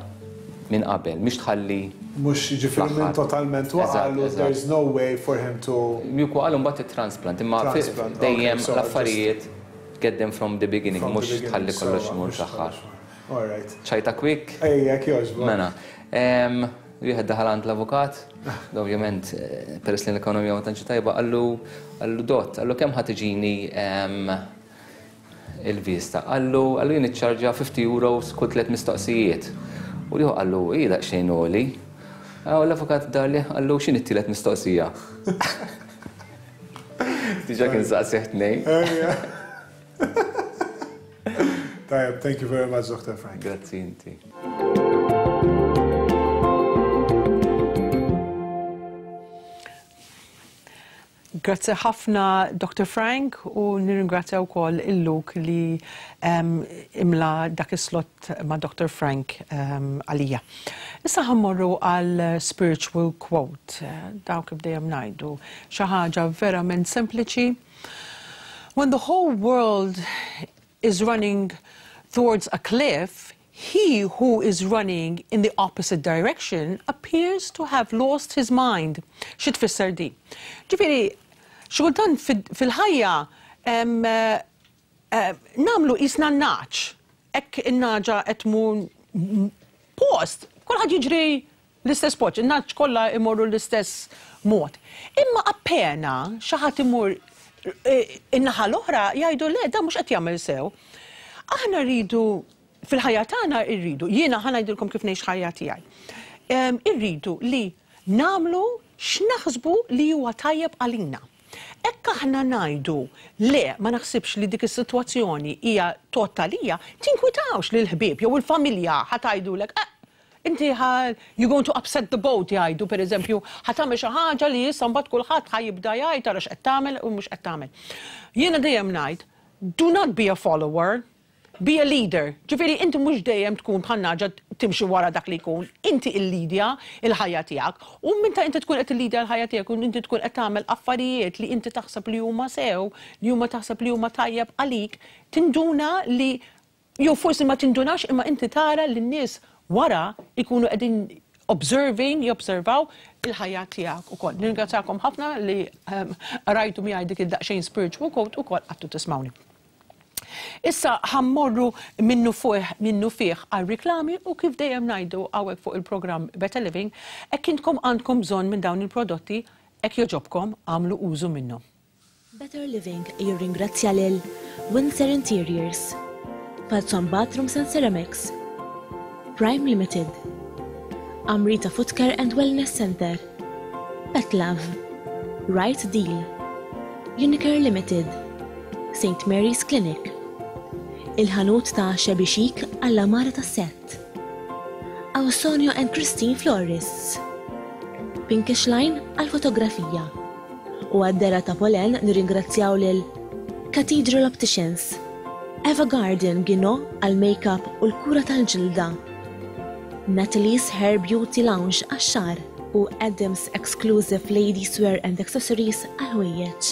minn qabel, mhix tħalli Mhux jiġifieri minn fl-aħħar. totalment waqalu, Eżatt, eżatt. there's no way for him to Jekk waqalu mbagħad it-transplant, imma fi- Transplant, okay, dejjem so l-affarijiet get them from the beginning, From the mhux beginning, tħalli kollox so, imur mhux fl-aħħar. tħalli. All right. ċajta quick? Ejja, jogħġbok. Mela, em, wieħed daħal għand l-avukat, ovvjament, eh, peress li l-ekonomija ma tantx tajba, qallu, qallu dott, qallu kemm ħa tiġini, em, il-vista. Qallu, qallu jien niċċarġa fifty euros kull tliet mistoqsijiet. U liħu qallu, ija daqsxejn għoli. U l-avukat darli, qallu x'inhi t-tielet mistoqsija? Diġà kien saqsih tnejn. Ejja. Tajjeb, thank you very much, Doctor Frank. Grazzi inti. Grazzi ħafna, Doctor Frank, u nirringrazzja wkoll il-Luke li, em, imla dak is-slot ma' Doctor Frank, em, għalija. Issa ħammorru għal spiritual quote, dawk kif dejjem ngħidu, xi ħaġa verament sempliċi. When the whole world is running towards a cliff, he who is running in the opposite direction appears to have lost his mind. Xi tfisser di? Ġifieri, xi kultant fil-ħajja, em, eh, namlu jisna n-naċ. Hekk in-naġa qed tmur post, kulħadd jiġri l-istess post, in-naċ kollha imorru l-istess mod. Imma appena xi ħadd imur In-naħa l-oħra jgħidu le, da mhux qed jagħmel sew. Aħna rridu fil-ħajja tagħna rridu, jiena ħa ngħidilkom kif ngħix ħajja tiegħi. Irridu li nagħmlu x'naħsbu li huwa tajjeb għalina. Ekk aħna ngħidu le ma naħsibx li dik is-sitwazzjoni hija totalija, tinkwitawx lil ħbieb jew il-familja ħa tgħidulek inti you going to upset the boat jgħidu pereżempju ħa tagħmel xi ħaġa li issa mbagħad kulħadd ħa jibda jgħid tara x'qed tagħmel u mhux qed tagħmel. Jiena dejjem ngħid, do not be a follower, be a leader. Ġifieri inti mhux dejjem tkun bħal naġa timxi wara dak li jkun, inti il-lidja il-ħajja tiegħek. U meta inti tkun qed illidja l-ħajja tiegħek u inti tkun qed tagħmel affarijiet li inti taħseb li huma sew, li huma taħseb li huma tajjeb għalik, tinduna li jew forsi ma tindunax imma inti tara li n-nies wara ikunu qegħdin observing, jobservaw il-ħajja tiegħek ukoll. Nirringrazzakom ħafna li rajtu miegħi dik id-daqsxejn spiritual quote ukoll qattu tismawni. Issa ħammorru minnu fuq minnu fih għal riklami u kif dejjem ngħidu hawnhekk fuq il-programm Better Living, hekk intkom għandkom bżonn minn dawn il-prodotti, hekk jogħġobkom għamlu użu minnhom. Better Living jirringrazzja lil Windsor Interiors, Falzon Bathrooms and Ceramics, Prime Limited, Amrita Footcare and Wellness Center, Pet Love, Right Deal, Unicare Limited, Saint Mary's Clinic, il-ħanut ta' Shabby Chic għall-amara ta' set, Ausonio and Christine Florists, Pinkish Line għal-fotografija, u għad-dera ta' Polen nirringrazzjaw lil Cathedral Opticians, Eva Garden Gino għal-makeup u l-kura tal-ġilda, Natalie's Hair Beauty Lounge għax-xagħar u Adams Exclusive Ladies Wear and Accessories għal-ħwejjeġ.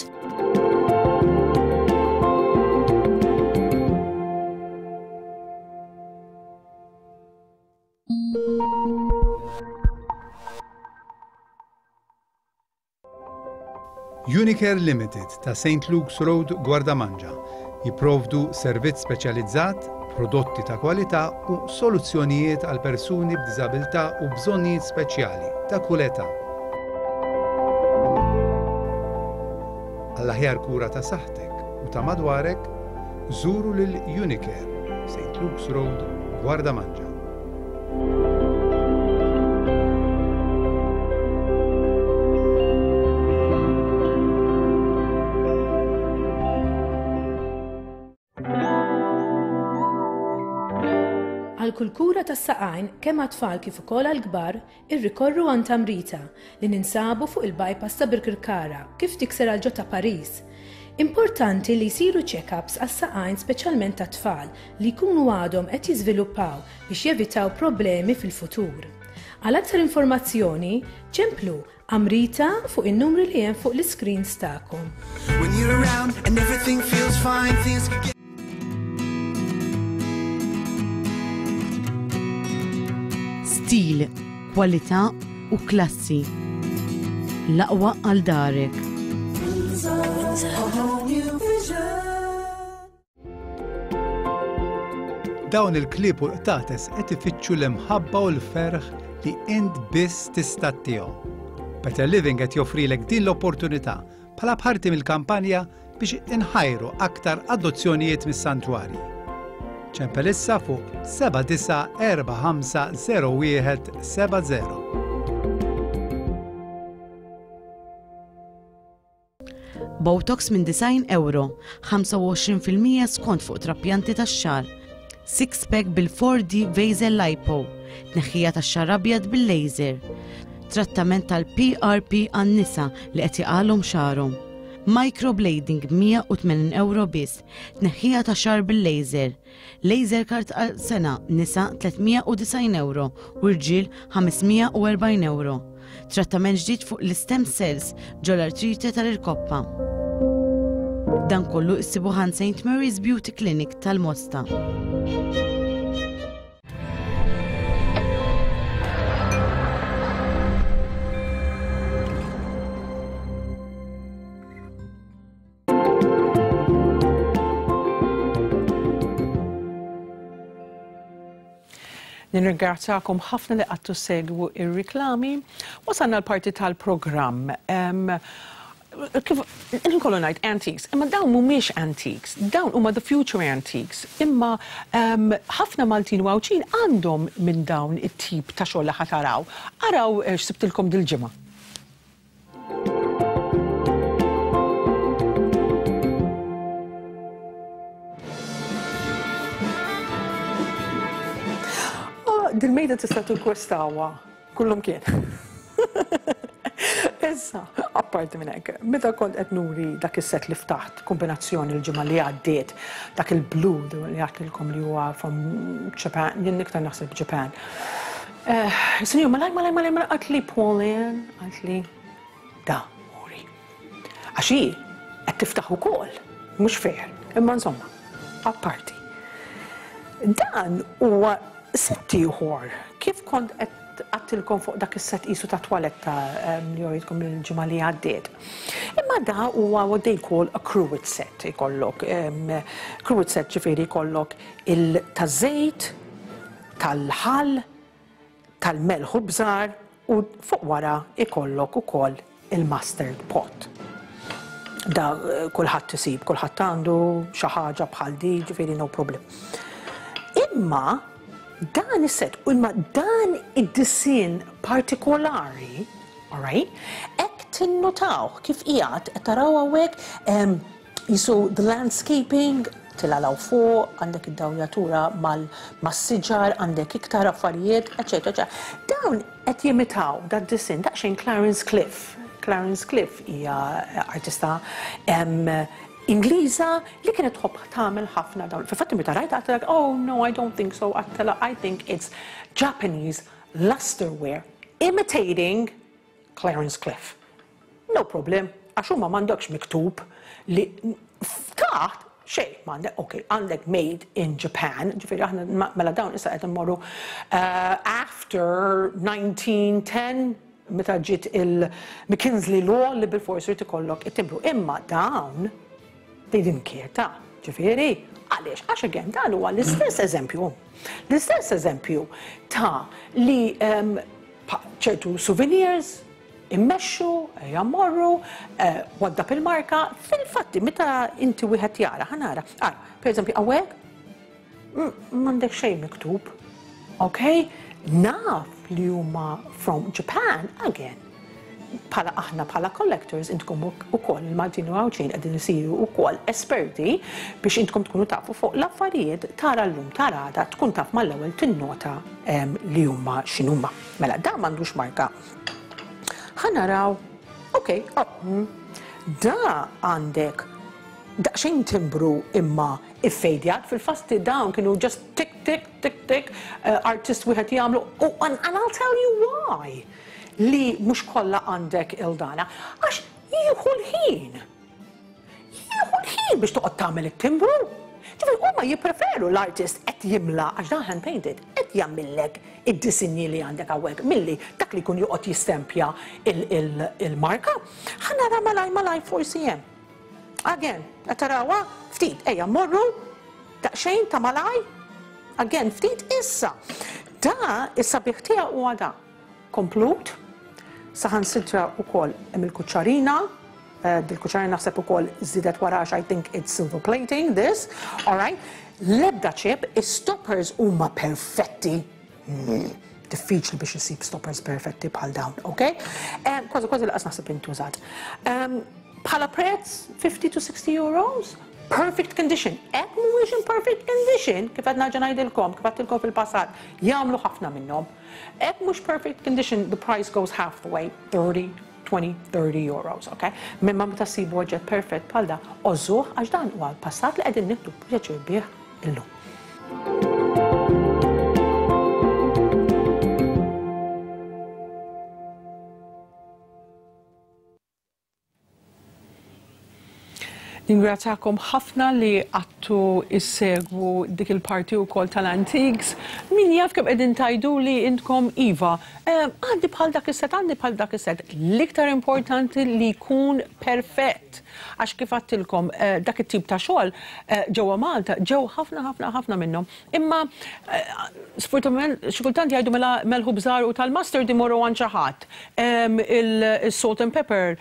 Unicare Limited ta' Saint Luke's Road, Gwardamanġa jipprovdu servizz speċjalizzat, prodotti ta' kwalità u soluzzjonijiet għal persuni b'diżabilità u bżonnijiet speċjali ta' kull età. Għall-aħjar kura ta' saħħtek u ta' madwarek, żuru lil Unicare, Saint Luke's Road, Gwardamanġa. Għal kull kura tas-saqajn kemm għat-tfal kif ukoll għall-kbar, irrikorru għand Amrita li ninsabu fuq il-bypass ta' Birkirkara kif tikser għal ġo ta' Paris. Importanti li jsiru check-ups għas-saqajn speċjalment tat-tfal li jkunu għadhom qed jiżviluppaw biex jevitaw problemi fil-futur. Għal aktar informazzjoni, ċemplu Amrita fuq in-numri li hemm fuq l-iscreens tagħkom. When you're around and everything feels fine, things get Stil, kwalità u klassi. L-aqwa għal darek. Dawn il-klieb u l-qtates qed ifittxu l-imħabba u l-ferħ li int biss tista' ttihom. Better Living qed joffrilek din l-opportunità bħala parti mill-kampanja biex inħajru aktar adozzjonijiet mis-santwarji. Ċempel issa fuq seba' disa' erba' ħamsa zero wieħed seba' zero. Botox minn disgħin euro, ħamsa u għoxrin fil-mija skont fuq trapjanti tax-xagħar, six pack bil-four D Vaser Lipo, tneħħija tax-xagħar abjad bil-laser, trattament tal-P R P għan-nisa li qed jaqalhom xagħarhom, microblading mija u tmenin euro biss, tneħħija ta' xagħar bil-laser, laser card għal sena nisa tliet mija u disgħin euro u rġiel ħames mija u erbgħin euro. Trattament ġdid fuq l-stem cells ġol-artrite tal-irkoppa. Dan kollu issibu ħan Saint Mary's Beauty Clinic tal-Mosta. Nirringrazzakom ħafna li qattu segwu ir-riklami. Wasalna l-parti tal-programm. Kif inkollu ngħid antiques, imma dawn mhumiex antiques, dawn huma the future antiques. Imma ħafna Maltin u Għawdxin għandhom minn dawn it-tip ta' xogħol li ħa taraw. Araw x'sibtilkom dil-ġimgħa. Dil-mejda tista' tikkwestawha kullum kien. Issa, apparti minn hekk, meta kont qed nuri dak is-set li ftaħt kombinazzjoni l-ġimgħa li għaddiet, dak il-blu li għadtilkom li huwa from Japan, jien iktar naħseb Japan. Sinjur, malaj, malaj, malaj, malaj, għatli Pauline, għatli da, uri. Għax hi qed tiftaħ ukoll, mhux fair, imma insomma, apparti. Dan huwa set ieħor, kif kont qed għattilkom fuq dak is-set qisu ta' twaletta li joridkom il-ġimgħa li għaddiet. Imma da huwa what they call a cruet set ikollok. Cruet set ġifieri jkollok il-taż-żejt, tal-ħall, tal-melħ u bżar u fuq wara ikollok ukoll il-mustard pot. Da kulħadd isib, kulħadd għandu xi ħaġa bħal di, ġifieri no problem. Imma dan is-set, imma dan id-disin partikolari, all right, hekk tinnutaw kif qiegħed qed taraw hawnhekk jisu the landscaping, tilalaw fuq, għandek id-dawjatura mas-siġar, għandek iktar affarijiet, eċetera, eċetera. Dawn qed jimitaw dan disin daqsxejn Clarence Cliff. Clarence Cliff hija artista Ingliża li kienet tħobb tagħmel ħafna dawn. Fil-fatt meta rajt għedtlek, oh no, I don't think so, għedtilha I think it's Japanese lusterware imitating Clarence Cliff. No problem, għax huma m'għandekx miktub li taħt xejn m'għandek, ok, għandek made in Japan, ġifieri aħna mela dawn issa qed immorru after nineteen ten, meta ġiet il-McKinley Law li bil-forsi jrid ikollok it-timbru. Imma dawn they didn't care ta' ġifieri, għaliex, għax again, dan huwa l-istess eżempju. L-istess eżempju ta' li ċertu souvenirs immexxu, jammorru, waddab il-marka, fil-fatti, meta inti wieħed jara, ħanara, ara, per eżempju, hawnhekk, m'għandek xejn miktub, ok? Naf li huma from Japan, again. Bħala aħna bħala collectors intkom ukoll il-Maltin u Għawdxin qegħdin isiru wkoll esperti biex intkom tkunu tafu fuq l-affarijiet tara llum tara għada tkun taf mal-ewwel tinnota li huma x'inhuma. Mela da m'għandux marka. Ħa naraw, ok, oh, da għandek daqsxejn timbru imma iffejdjat fil-fasti dawn kienu just tick tick tick tick artist wieħed jagħmlu oh, and, and I'll tell you why. Li mhux kollha għandek il-dana, għax jieħu l-ħin. Jieħu l-ħin biex toqgħod tagħmel it-timbru. Ġifieri huma jippreferu l-artist qed jimla għax dan hand painted qed jagħmillek id-disinji li għandek hawnhekk milli dak li jkun joqgħod jistempja il-marka. Ħa nara malaj malaj forsi hemm. Again, qed tarawha ftit ejja mmorru daqsxejn ta' malaj. Again, ftit issa. Da is-sabiħ tiegħu huwa da. Komplut. Saħansitra wkoll hemm il-kuċċarina, dil-kuċċarina naħseb ukoll żiedet wara għax I think it's silver plating this, all right. L-ebda chip, is-stoppers huma perfetti. Diffiċli biex isib stoppers perfetti bħal dawn, ok? Kważi kważi laqas naħseb intużat. Bħala prezz fifty to sixty euros, perfect condition. Hekk mhuwiex in perfect condition, kif qed nerġa' ngħidilkom, kif għedtilkom fil-passat, jagħmlu ħafna minnhom. Hekk mhux perfect condition, the price goes half the way, thirty, twenty, thirty euros, ok? Mimma meta ssibu oġġett perfett bħal da, ożuh għax dan huwa l-passat li qegħdin nieħdu pjaċir bih illum. Ningrazzjakom ħafna li għattu issegwu dik il-parti wkoll tal-antiques. Min jaf kemm qegħdin tajdu li intkom iva, għandi bħal dak is-set, għandi bħal dak is-set. L-iktar importanti li jkun perfett. Għax kif għattilkom dak it-tip ta' xogħol ġewwa Malta ġew ħafna ħafna ħafna minnhom. Imma sfortunatament xi kultant jgħidu mela melħu bżar u tal-mustard imorru għand xi ħadd. Il-salt and pepper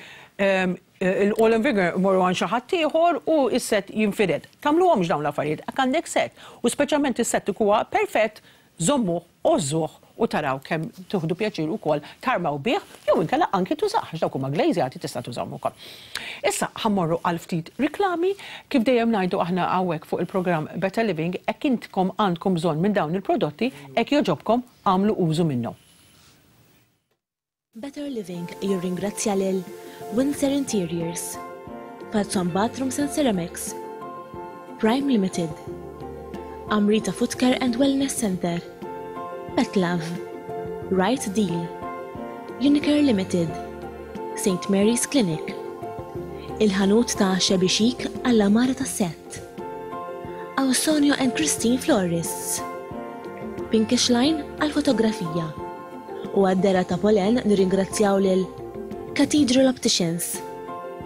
Il-oil and vinegar morru għand xi ħadd ieħor u s-set jinfired. Tagħmluhomx dawn l-affarijiet, għak għandek set. U speċjalment is-set huwa perfett, żommuh, għożżuh u taraw kemm tieħdu pjaċir ukoll tarmaw bih jew inkella anki tużah, għax dawk huma glazjati tista' tużahom ukoll. Issa ħa mmorru għal ftit riklami, kif dejjem ngħidu aħna hawnhekk fuq il-programm Better Living, hekk intkom għandkom bżonn minn dawn il-prodotti, hekk jogħġobkom għamlu użu minnhom. Better Living jirringrazzja lil Windsor Interiors, Falzon Bathrooms and Ceramics, Prime Limited, Amrita Footcare and Wellness Center, Pet Love, Right Deal, Unicare Limited, Saint Mary's Clinic, Il-ħanut ta' Shabby Chic għall-amara ta' set, Ausonio and Christine Florists, Pinkish Line għal-fotografija. U għad-dera ta' Polen nirringrazzjaw lil Cathedral Opticians,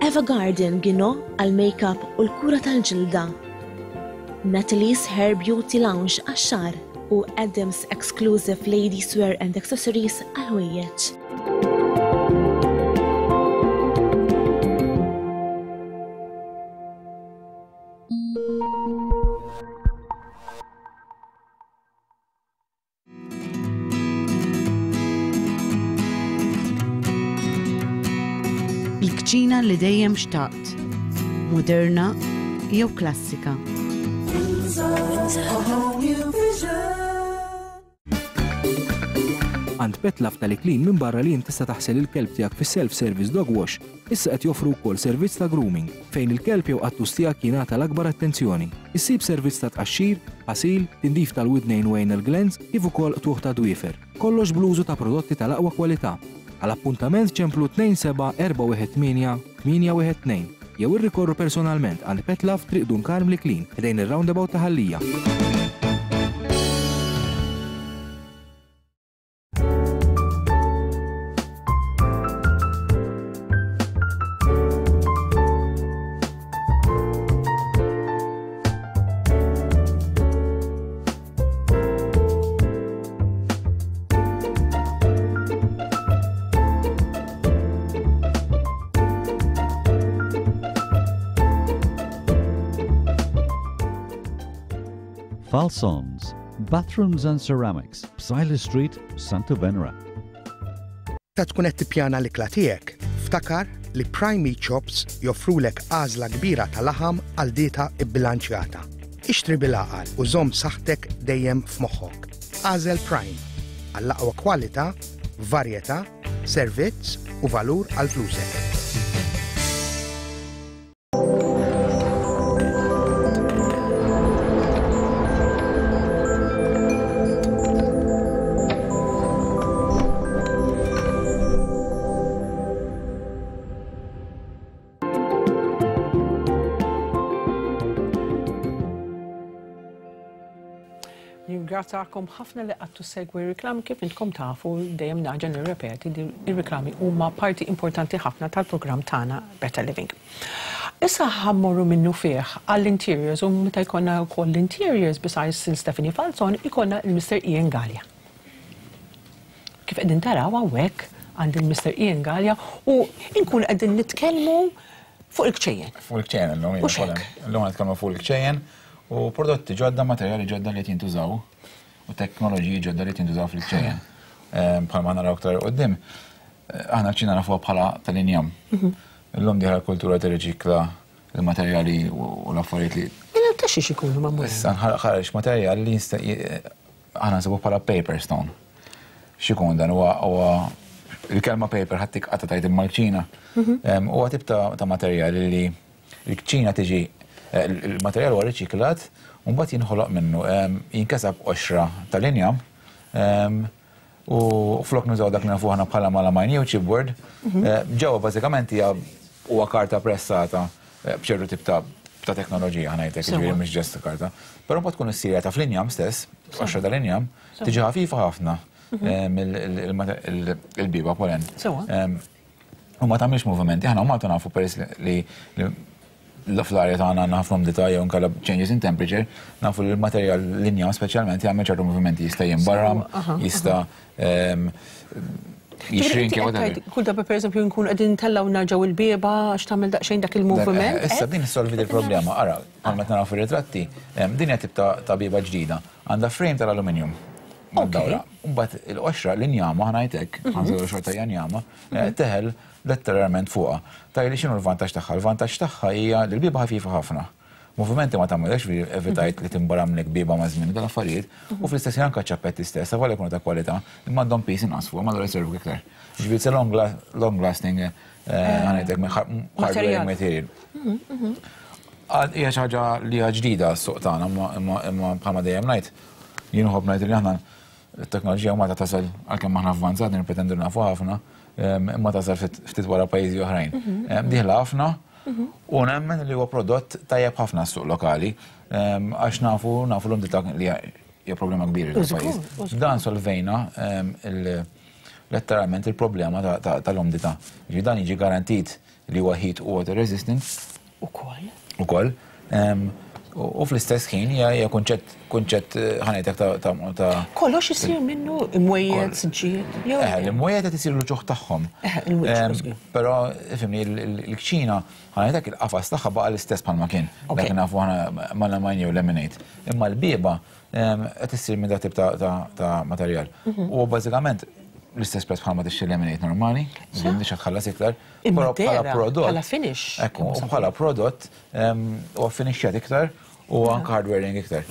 Eva Garden Gino għal-makeup u l-kura tal-ġilda, Natalie's Hair Beauty Lounge għax-xagħar u Adams Exclusive Ladies Wear and Accessories għal-ħwejjeġ. Il-kċina li dejjem xtaqt, moderna jew klassika. Għand Petlove tal-Iklin minn barra li tista' taħsel il-kelb tiegħek fis-self-service dog wash, issa qed joffru wkoll servizz ta' grooming fejn il-kelb jew qattus tiegħek jingħata l-akbar attenzjoni. Issib servizz ta' tqaxxir, ħasil, tindif tal-widnejn u anal glands kif ukoll qtugħ ta' dwiefer. Kollox bl-użu ta' prodotti tal-aqwa kwalità. Għal appuntament ċemplu tnejn seba' erba' wieħed tmienja tmienja wieħed tnejn jew irrikorru personalment għand Petlove Triq Dun Karm L-Iklin ħdejn ir-roundabout ta' Ħal Lija. Falsons, Bathrooms and Ceramics, Psaila Street, Santa Venera. Ta' tkun qed tippjana l-ikla tiegħek, ftakar li Prime Meat Shops joffrulek għażla kbira ta' laħam għal dieta bbilanċjata. Ixtri bil-għaqal u żomm saħħtek dejjem f'moħħok. Għażel Prime għall-aqwa kwalità, varjetà, servizz u valur għal flusek. Nirringrazzjakom ħafna li qgħadtu segwi reklam kif intkom tafu dejjem naġa nirrepeti li ir-reklami huma parti importanti ħafna tal-programm tagħna Better Living. Issa ħa mmorru minnu fih għall-interiors u meta jkollna wkoll l-interiors besides Stephanie Falzon ikollna il-Mister Ian Galea. Kif qegħdin taraw hawnhekk għand il-Mister Ian Galea u nkun qegħdin nitkellmu fuq il-kċejjen. Fuq il-kċejjen illum, U x'hekk? Illum nitkellmu fuq il-kċejjen u prodotti ġodda, materjali ġodda li qed jintużaw u teknoloġiji ġodda li qed jintużaw fil-kċejjen. Ehm, bħalma naraw aktar quddiem, aħna l-kċina nafuha bħala tal-injam. Mhm. Illum diħla l-kultura tirriċikla il-materjali u l-affarijiet li Mela ta' xiex ikunu magħmulin? Issa nħarġ materjal li jista' j-, aħna nsibu bħala paper stone. X'ikun dan huwa huwa il-kelma paper ħadd tikqata' tajt imma l-kċina. Mhm. Ehm, huwa tip ta' ta' materjal li l-kċina tiġi, eh, il-materjal huwa riċiklat u mbagħad jinħoloq minnu, ehm, jinkesab qoxra tal-injam, ehm, u flok nużaw dak li nafu aħna bħala melamine jew chipboard, Mhm. eh, ġewwa bażikament hija huwa karta pressata, eh, b'ċertu tip ta' ta' teknoloġija ħa ngħidlek, Sewa. jiġifieri mhux ġest karta. Però mbagħad tkun issir ta' fl-injam stess, Sewa. qoxra tal-injam, Sewa. tiġi ħafifa ħafna, Mhm. ehm, il-, il-, il-, il-biba polen. Sewa. Ehm, u ma tagħmilx movimenti, aħna Malta nafu peress li, li l-arja tagħna għandna ħafna umdità jew inkella changes in temperature, nafu li l-materjal l-injam speċjalment jagħmel ċertu movimenti, jista' jinbarram, Sewa, aha, jista', aha. ehm, Jixrinki whatever. Kull darba pereżempju nkun qegħdin ntellgħu narġgħu il-bieba għax tagħmel daqsxejn dak il-moviment. Issa din issolvi il-problema, ara, bħal meta naraw fir-ritratti, din hija tip ta' bieba ġdida. Għandha frame tal-aluminium. Mad-dawra. Mbagħad il-qoxra l-injama ħa ngħidlek, ħa xorta hija njama, teħel letteralment fuqha. Tgħidli x'inhu l-vantaġġ tagħha? Il-vantaġġ tagħha hija li l-bieba ħafifa ħafna. Movimenti ma tagħmilx fi evitajt li timbaramlek bieba ma' żmien dal-affarijiet u fl-istess ħin anke ċappetti stess, avolja jkunu ta' kwalità, imma għandhom piż inqas fuq, ma jservu iktar. Ġifieri it's a long, long lasting ħa ngħidlek hardware material. Hija xi ħaġa li hija ġdida s-suq tagħna, imma bħalma dejjem ngħid, jien nħobb ngħid li aħna t-teknoloġija ma ta' tasal għalkemm aħna avvanzati nippretendu nafu ħafna, imma tasal ftit wara pajjiżi oħrajn. Dieħla ħafna u nemmen li huwa prodott tajjeb ħafna s-suq lokali, għax nafu nafu l-umdità li hija problema kbira fil-pajjiż. Dan solvejna letteralment il-problema tal-umdità. Dan jiġi garantit li huwa heat u water resistant. Ukoll. Ukoll. U fl-istess ħin hija kunċett kunċett ħa ngħidlek ta' Kollox isir minnu imwejjed, siġġijiet. Eh, l-imwejjed qed isiru l-ġuħ tagħhom. Però ifhimni l-kċina ħa ngħidlek il-qafas tagħha baqa' l-istess bħalma kien. Dak nafu aħna melamine jew laminate. Imma l-bieba qed issir minn dak tip ta' materjal. U bażikament l-istess prezz bħalma tixtri laminate normali, m'intix tħallas iktar, però bħala prodott. Bħala finish. Ekku, bħala prodott huwa finixxjat iktar u anke hardwearing iktar.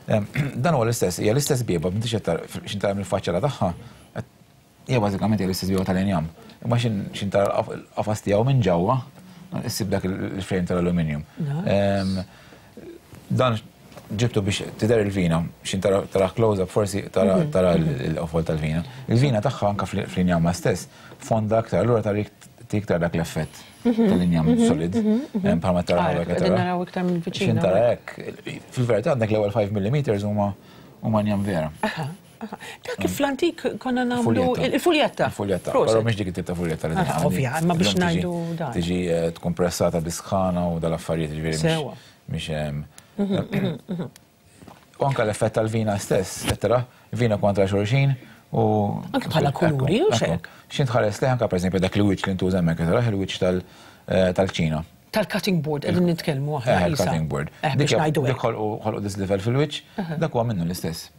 Dan huwa l-istess, hija l-istess bieba, m'intix qed tara mill-faċċata tagħha, hija bażikament hija l-istess bieba tal-injam. Imma x'ħin tara l-qafas tiegħu minn ġewwa, issib dak il-frame tal-aluminium. Dan ġibtu biex tidher il-vina, x'ħin tara close-up forsi tara l-qofol tal-vina. Il-vina tagħha anke fl-injama stess fonda aktar, allura tara iktar dak l-effett tal-injam solid, bħalma tara hawnhekk tara. Naraw iktar mill-viċin. X'ħin tara hekk, fil-verità għandek l-ewwel five millimeters huma huma injam vera. Dak kif fl-antik konna nagħmlu il-fuljetta. Il-fuljetta, però mhix dik it-tip ta' fuljetta li Ovvja, imma biex ngħidu dan. Tiġi tkun pressata bi sħana u dal-affarijiet, ġifieri mhix. U anke l-effett tal-vina stess, tara, vina kontra xulxin u. Anke bħala kuluri u xek. X'ħin tħares lejh anke pereżempju dak il-wiċċ li ntuża hemmhekk, tara il-wiċċ tal-kċina. Tal-cutting board qegħdin nitkellmu aħna. Eh, il-cutting board. Eh, biex ngħidu Dik ħolqu dis level fil-wiċċ, dak huwa minnu l-istess.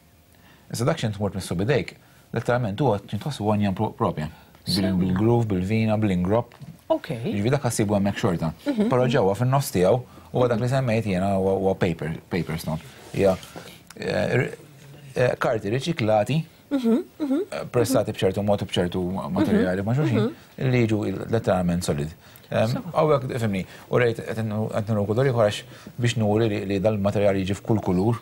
Issa dak x'ħin tmur tmissu bidejk, letteralment huwa x'ħin tħossu huwa njam propja. Bil-groove, bil-vina, bil-ingrop. Ok. Ġifieri dak ħassibu hemmhekk xorta. Però ġewwa fin-nofs tiegħu huwa dak li semmejt jiena huwa paper, paper stone. Hija karti riċiklati pressati b'ċertu mod u b'ċertu materjali ma' xulxin li jiġu letteralment solid. Hawnhekk, fhimni, u rejt qed nuru kulur ieħor għax biex nuri li dal-materjali jiġi f'kull kulur,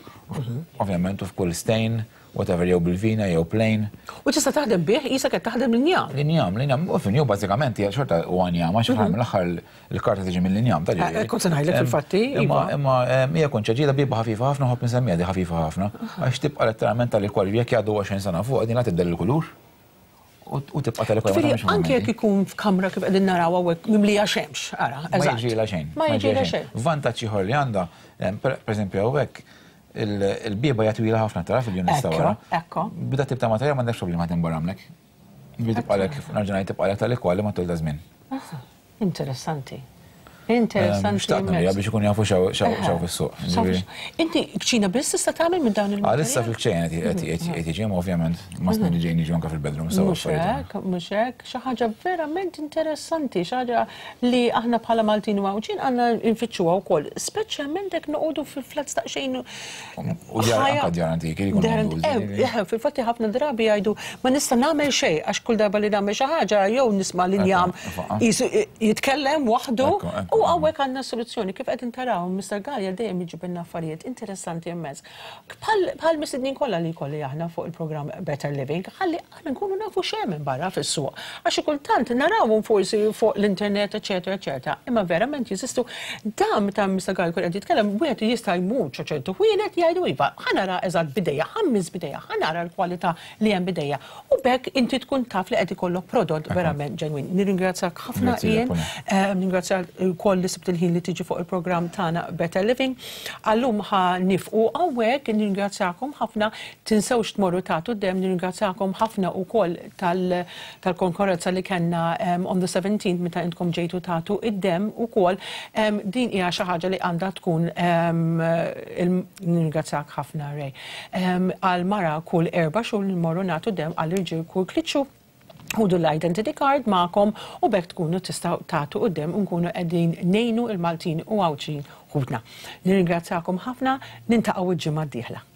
ovvjament u f'kull stain, whatever, jew bil-vina, jew plain. U tista' taħdem bih, qisek qed taħdem l-injam. L-injam, l-injam, u fhimni, u bażikament hija xorta huwa injam, għax fl-aħħar mill-aħħar il-karta tiġi mill-injam, ta' ġifieri. Kont se ngħidlek fil-fatti. Imma imma hija kunċett ġdida bieba ħafifa ħafna, nħobb nsemmiha di ħafifa ħafna, għax tibqa' letteralment tal-kwali jekk jgħaddu għoxrin sena fuq din la tibdel il-kulur. U tibqa' tal-kwali. Ġifieri anke jekk ikun f'kamra kif qegħdin naraw hawnhekk mimlija xemx, ara, Ma jiġrilha xejn. Ma jiġrilha xejn. Vantaġġ ieħor li għandha, pereżempju hawnhekk il-bieba hija twila ħafna tara fil-units ta' wara. Ekko. Bida tip ta' materjal m'għandekx problema timbaramlek. Ġifieri tibqalek, nerġa' ngħid tibqalek tal-kwali matul ta' żmien. Interessanti. Interessanti. Xtaqt nurija biex ikun jafu x'hawn fis-suq. Inti kċina biss tista' tagħmel minn dawn il-materjali? Għalissa fil-kċejn qed jiġi, ovvjament, ma snin li ġejjin jiġu anke fil-bedroom sew Mhux hekk, mhux hekk, xi ħaġa verament interessanti, xi ħaġa li aħna bħala Maltin u Għawdxin għandna nfittxuha wkoll, speċjalment jekk noqogħdu fil-flats daqsxejn. U djar anke djar antiki li jkunu Eh, fil-fatti ħafna drabi jgħidu ma nista' nagħmel xejn għax kull darba li nagħmel xi ħaġa jew nisma' l-injam jitkellem waħdu. U hawnhekk għandna soluzzjoni kif qed taraw Mister Galea dejjem jiġibilna affarijiet interessanti immens. Bħal mistednin kollha li jkolli aħna fuq il-programm Better Living, ħalli aħna nkunu nafu x'hemm minn barra fis-suq. Għax xi kultant narawhom forsi fuq l-internet, eċetera, eċetera, imma verament jeżistu. Dan ta' Mister Galea kull qed jitkellem, wieħed jista' jmur xi ċertu ħwienet jgħidu iva, ħa nara eżatt bidejja, ħa mmiss bidejja, ħa nara l-kwalità li hemm bidejja. U b'hekk inti tkun taf li qed ikollok prodott verament ġenwin. Nirringrazzjak ħafna Grazzi, Ian, Paulina. nirringrazzjak ukoll Ukoll li sibt il-ħin li tiġi fuq il-programm tagħna Better Living. Għallum ħa nieqfu hawnhekk, nirringrazzjakom ħafna, tinsewx tmorru tagħtu dem, nirringrazzjakom ħafna ukoll tal-konkorrenza li kellna on the seventeenth meta intkom ġejtu tagħtu id-dem ukoll. Din hija xi ħaġa li għandha tkun, nirringrazzjak ħafna, Ray. Għal mara kull erba' xhur nmorru nagħtu dem, għall-irġiel kull tliet xhur. Ħudu l-identity card magħkom u b'hekk tkunu tistgħu tagħtu d-dem u nkunu qegħdin ngħinu il-Maltin u Għawdxin ħutna. Nirringrazzjakom ħafna, niltaqgħu il-ġimgħa d-dieħla.